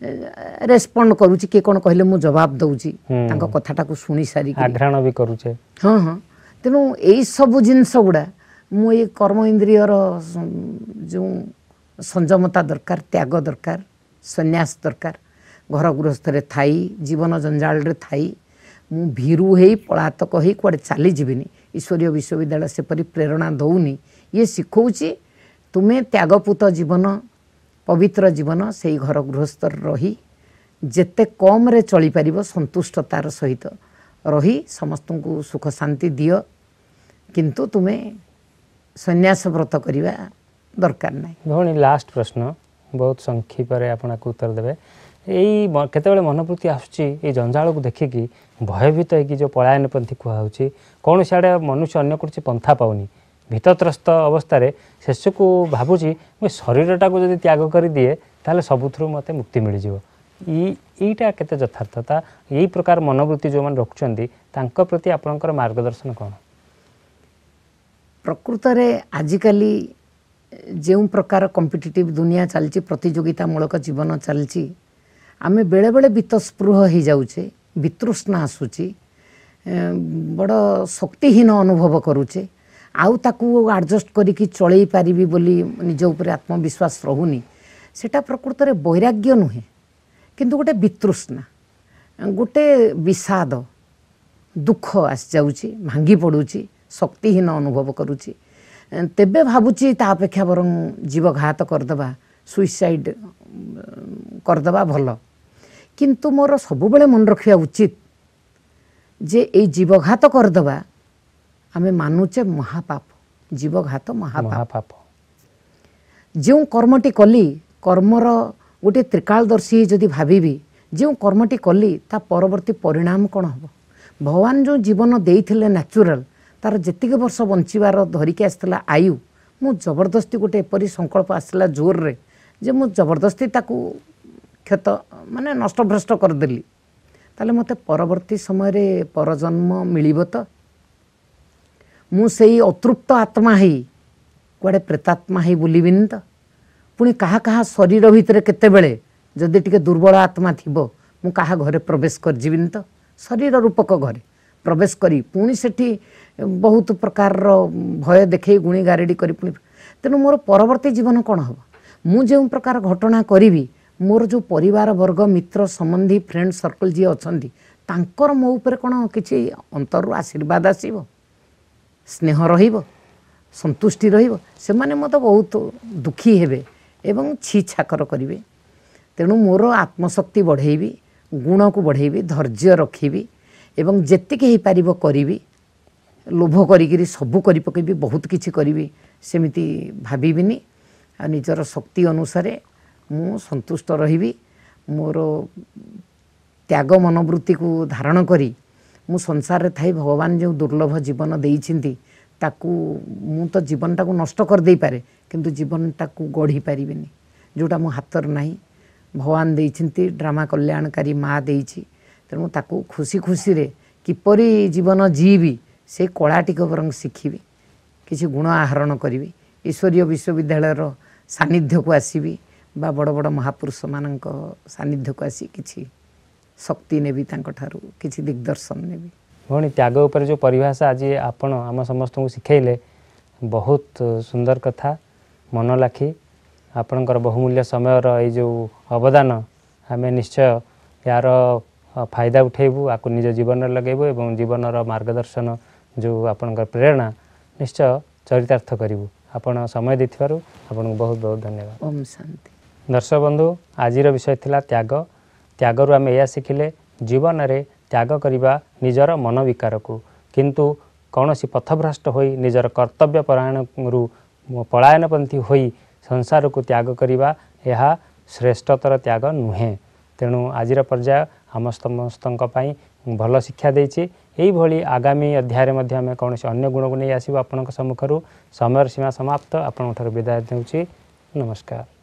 ରେସ୍ପଣ୍ଡ କରୁଛି, କିଏ କ'ଣ କହିଲେ ମୁଁ ଜବାବ ଦେଉଛି, ତାଙ୍କ କଥାଟାକୁ ଶୁଣି ସାରିକି ଆଘ୍ରାଣ ବି କରୁଛେ। ହଁ ହଁ, ତେଣୁ ଏଇସବୁ ଜିନିଷ ଗୁଡ଼ା ମୁଁ ଏଇ କର୍ମ ଇନ୍ଦ୍ରିୟର ଯେଉଁ ସଂଯମତା ଦରକାର, ତ୍ୟାଗ ଦରକାର, ସନ୍ନ୍ୟାସ ଦରକାର, ଘର ଗୃହସ୍ଥରେ ଥାଇ, ଜୀବନ ଜଞ୍ଜାଳରେ ଥାଇ ମୁଁ ଭୀରୁ ହେଇ ପଳାତକ ହେଇ କୁଆଡ଼େ ଚାଲିଯିବିନି। ଈଶ୍ୱରୀୟ ବିଶ୍ୱବିଦ୍ୟାଳୟ ସେପରି ପ୍ରେରଣା ଦେଉନି। ଇଏ ଶିଖଉଛି ତୁମେ ତ୍ୟାଗପୁତ ଜୀବନ, ପବିତ୍ର ଜୀବନ, ସେଇ ଘର ଗୃହସ୍ଥରେ ରହି ଯେତେ କମ୍ରେ ଚଳିପାରିବ ସନ୍ତୁଷ୍ଟତାର ସହିତ ରହି ସମସ୍ତଙ୍କୁ ସୁଖ ଶାନ୍ତି ଦିଅ, କିନ୍ତୁ ତୁମେ ସନ୍ନ୍ୟାସ ବ୍ରତ କରିବା ଦରକାର ନାହିଁ। ଭଉଣୀ, ଲାଷ୍ଟ ପ୍ରଶ୍ନ, ବହୁତ ସଂକ୍ଷେପରେ ଆପଣ ଉତ୍ତର ଦେବେ। ଏଇ କେତେବେଳେ ମନୋବୃତ୍ତି ଆସୁଛି ଏଇ ଜଞ୍ଜାଳକୁ ଦେଖିକି ଭୟଭୀତ ହେଇକି ଯେଉଁ ପଳାୟନପନ୍ଥୀ କୁହାହେଉଛି, କୌଣସି ଆଡ଼େ ମନୁଷ୍ୟ ଅନ୍ୟ କୌଣସି ପନ୍ଥା ପାଉନି, ଭୀତତ୍ରସ୍ତ ଅବସ୍ଥାରେ ଶେଷକୁ ଭାବୁଛି ମୁଁ ଶରୀରଟାକୁ ଯଦି ତ୍ୟାଗ କରିଦିଏ ତାହେଲେ ସବୁଥିରୁ ମୋତେ ମୁକ୍ତି ମିଳିଯିବ। ଏଇଟା କେତେ ଯଥାର୍ଥତା? ଏଇ ପ୍ରକାର ମନୋବୃତ୍ତି ଯେଉଁମାନେ ରଖୁଛନ୍ତି ତାଙ୍କ ପ୍ରତି ଆପଣଙ୍କର ମାର୍ଗଦର୍ଶନ କ'ଣ? ପ୍ରକୃତରେ ଆଜିକାଲି ଯେଉଁ ପ୍ରକାର କମ୍ପିଟିଟିଭ୍ ଦୁନିଆ ଚାଲିଛି, ପ୍ରତିଯୋଗିତାମୂଳକ ଜୀବନ ଚାଲିଛି, ଆମେ ବେଳେବେଳେ ବିତସ୍ପୃହ ହେଇଯାଉଛେ, ବିତୃଷ୍ଣା ଆସୁଛି, ବଡ଼ ଶକ୍ତିହୀନ ଅନୁଭବ କରୁଛେ, ଆଉ ତାକୁ ଆଡ଼ଜଷ୍ଟ କରିକି ଚଳେଇ ପାରିବି ବୋଲି ନିଜ ଉପରେ ଆତ୍ମବିଶ୍ୱାସ ରହୁନି। ସେଇଟା ପ୍ରକୃତରେ ବୈରାଗ୍ୟ ନୁହେଁ, କିନ୍ତୁ ଗୋଟେ ବିତୃଷ୍ଣା, ଗୋଟେ ବିଷାଦ, ଦୁଃଖ ଆସିଯାଉଛି, ଭାଙ୍ଗି ପଡ଼ୁଛି, ଶକ୍ତିହୀନ ଅନୁଭବ କରୁଛି। ତେବେ ଭାବୁଛି ତା ଅପେକ୍ଷା ବରଂ ଜୀବଘାତ କରିଦେବା, ସୁଇସାଇଡ଼ କରିଦେବା ଭଲ। କିନ୍ତୁ ମୋର ସବୁବେଳେ ମନେ ରଖିବା ଉଚିତ ଯେ ଏଇ ଜୀବଘାତ କରିଦେବା ଆମେ ମାନୁଛେ ମହାପାପ, ଜୀବଘାତ ମହାପାପ। ଯେଉଁ କର୍ମଟି କଲି, କର୍ମର ଗୋଟିଏ ତ୍ରିକାଳଦର୍ଶୀ ଯଦି ଭାବିବି, ଯେଉଁ କର୍ମଟି କଲି ତା ପରବର୍ତ୍ତୀ ପରିଣାମ କ'ଣ ହେବ? ଭଗବାନ ଯେଉଁ ଜୀବନ ଦେଇଥିଲେ ନ୍ୟାଚୁରାଲ, ତାର ଯେତିକି ବର୍ଷ ବଞ୍ଚିବାର ଧରିକି ଆସିଥିଲା ଆୟୁ, ମୁଁ ଜବରଦସ୍ତି ଗୋଟେ ଏପରି ସଂକଳ୍ପ ଆସିଲା ଜୋରରେ ଯେ ମୁଁ ଜବରଦସ୍ତି ତାକୁ କ୍ଷତ ମାନେ ନଷ୍ଟଭ୍ରଷ୍ଟ କରିଦେଲି, ତାହେଲେ ମୋତେ ପରବର୍ତ୍ତୀ ସମୟରେ ପରଜନ୍ମ ମିଳିବ ତ? ମୁଁ ସେଇ ଅତୃପ୍ତ ଆତ୍ମା ହେଇ କୁଆଡ଼େ ପ୍ରେତାତ୍ମା ହେଇ ବୁଲିବିନି ତ? ପୁଣି କାହା କାହା ଶରୀର ଭିତରେ କେତେବେଳେ ଯଦି ଟିକେ ଦୁର୍ବଳ ଆତ୍ମା ଥିବ, ମୁଁ କାହା ଘରେ ପ୍ରବେଶ କରିଯିବିନି ତ? ଶରୀର ରୂପକ ଘରେ ପ୍ରବେଶ କରି ପୁଣି ସେଠି ବହୁତ ପ୍ରକାରର ଭୟ ଦେଖେଇ ଗୁଣି ଗାରେଡ଼ି କରି ପୁଣି, ତେଣୁ ମୋର ପରବର୍ତ୍ତୀ ଜୀବନ କ'ଣ ହେବ? ମୁଁ ଯେଉଁ ପ୍ରକାର ଘଟଣା କରିବି, ମୋର ଯେଉଁ ପରିବାର ବର୍ଗ, ମିତ୍ର ସମ୍ବନ୍ଧୀ, ଫ୍ରେଣ୍ଡ ସର୍କଲ୍ ଯିଏ ଅଛନ୍ତି, ତାଙ୍କର ମୋ ଉପରେ କ'ଣ କିଛି ଅନ୍ତରରୁ ଆଶୀର୍ବାଦ ଆସିବ, ସ୍ନେହ ରହିବ, ସନ୍ତୁଷ୍ଟି ରହିବ? ସେମାନେ ମୋତେ ବହୁତ ଦୁଃଖୀ ହେବେ ଏବଂ ଛି ଛାକର କରିବେ। ତେଣୁ ମୋର ଆତ୍ମଶକ୍ତି ବଢ଼େଇବି, ଗୁଣକୁ ବଢ଼େଇବି, ଧୈର୍ଯ୍ୟ ରଖିବି ଏବଂ ଯେତିକି ହେଇପାରିବ କରିବି। ଲୋଭ କରିକିରି ସବୁ କରି ପକେଇବି, ବହୁତ କିଛି କରିବି ସେମିତି ଭାବିବିନି। ଆଉ ନିଜର ଶକ୍ତି ଅନୁସାରେ ମୁଁ ସନ୍ତୁଷ୍ଟ ରହିବି। ମୋର ତ୍ୟାଗ ମନୋବୃତ୍ତିକୁ ଧାରଣ କରି ମୁଁ ସଂସାରରେ ଥାଇ ଭଗବାନ ଯେଉଁ ଦୁର୍ଲଭ ଜୀବନ ଦେଇଛନ୍ତି ତାକୁ ମୁଁ ତ ଜୀବନଟାକୁ ନଷ୍ଟ କରିଦେଇପାରେ, କିନ୍ତୁ ଜୀବନଟାକୁ ଗଢ଼ି ପାରିବିନି, ଯେଉଁଟା ମୋ ହାତରେ ନାହିଁ। ଭଗବାନ ଦେଇଛନ୍ତି, ଡ୍ରାମା କଲ୍ୟାଣକାରୀ ମା ଦେଇଛି, ତେଣୁ ତାକୁ ଖୁସି ଖୁସିରେ କିପରି ଜୀବନ ଜିଇବି ସେ କଳାଟିକ ବରଂ ଶିଖିବି, କିଛି ଗୁଣ ଆହରଣ କରିବି, ଈଶ୍ୱରୀୟ ବିଶ୍ୱବିଦ୍ୟାଳୟର ସାନ୍ନିଧ୍ୟକୁ ଆସିବି ବା ବଡ଼ ବଡ଼ ମହାପୁରୁଷମାନଙ୍କ ସାନ୍ନିଧ୍ୟକୁ ଆସି କିଛି ଶକ୍ତି ନେବି, ତାଙ୍କଠାରୁ କିଛି ଦିଗ୍ଦର୍ଶନ ନେବି। ଭଉଣୀ, ତ୍ୟାଗ ଉପରେ ଯେଉଁ ପରିଭାଷା ଆଜି ଆପଣ ଆମ ସମସ୍ତଙ୍କୁ ଶିଖେଇଲେ, ବହୁତ ସୁନ୍ଦର କଥା, ମନ ଲାଖି। ଆପଣଙ୍କର ବହୁମୂଲ୍ୟ ସମୟର ଏଇ ଯେଉଁ ଅବଦାନ, ଆମେ ନିଶ୍ଚୟ ଏହାର ଫାଇଦା ଉଠେଇବୁ, ଆକୁ ନିଜ ଜୀବନରେ ଲଗେଇବୁ ଏବଂ ଜୀବନର ମାର୍ଗଦର୍ଶନ ଯେଉଁ ଆପଣଙ୍କର ପ୍ରେରଣା ନିଶ୍ଚୟ ଚରିତାର୍ଥ କରିବୁ। ଆପଣ ସମୟ ଦେଇଥିବାରୁ ଆପଣଙ୍କୁ ବହୁତ ବହୁତ ଧନ୍ୟବାଦ। ଓମ୍ ଶାନ୍ତି। ଦର୍ଶକ ବନ୍ଧୁ, ଆଜିର ବିଷୟ ଥିଲା ତ୍ୟାଗ। ତ୍ୟାଗରୁ ଆମେ ଏହା ଶିଖିଲେ, ଜୀବନରେ ତ୍ୟାଗ କରିବା ନିଜର ମନ ବିକାରକୁ, କିନ୍ତୁ କୌଣସି ପଥଭ୍ରଷ୍ଟ ହୋଇ ନିଜର କର୍ତ୍ତବ୍ୟ ପରାୟଣରୁ ପଳାୟନପନ୍ଥୀ ହୋଇ ସଂସାରକୁ ତ୍ୟାଗ କରିବା ଏହା ଶ୍ରେଷ୍ଠତର ତ୍ୟାଗ ନୁହେଁ। ତେଣୁ ଆଜିର ପର୍ଯ୍ୟାୟ ଆମ ସମସ୍ତଙ୍କ ପାଇଁ ଭଲ ଶିକ୍ଷା ଦେଇଛି। ଏଇଭଳି ଆଗାମୀ ଅଧ୍ୟାୟରେ ମଧ୍ୟ ଆମେ କୌଣସି ଅନ୍ୟ ଗୁଣକୁ ନେଇ ଆସିବୁ ଆପଣଙ୍କ ସମ୍ମୁଖରୁ। ସମୟର ସୀମା ସମାପ୍ତ, ଆପଣଙ୍କ ଠାରୁ ବିଦାୟ ନେଉଛି। ନମସ୍କାର।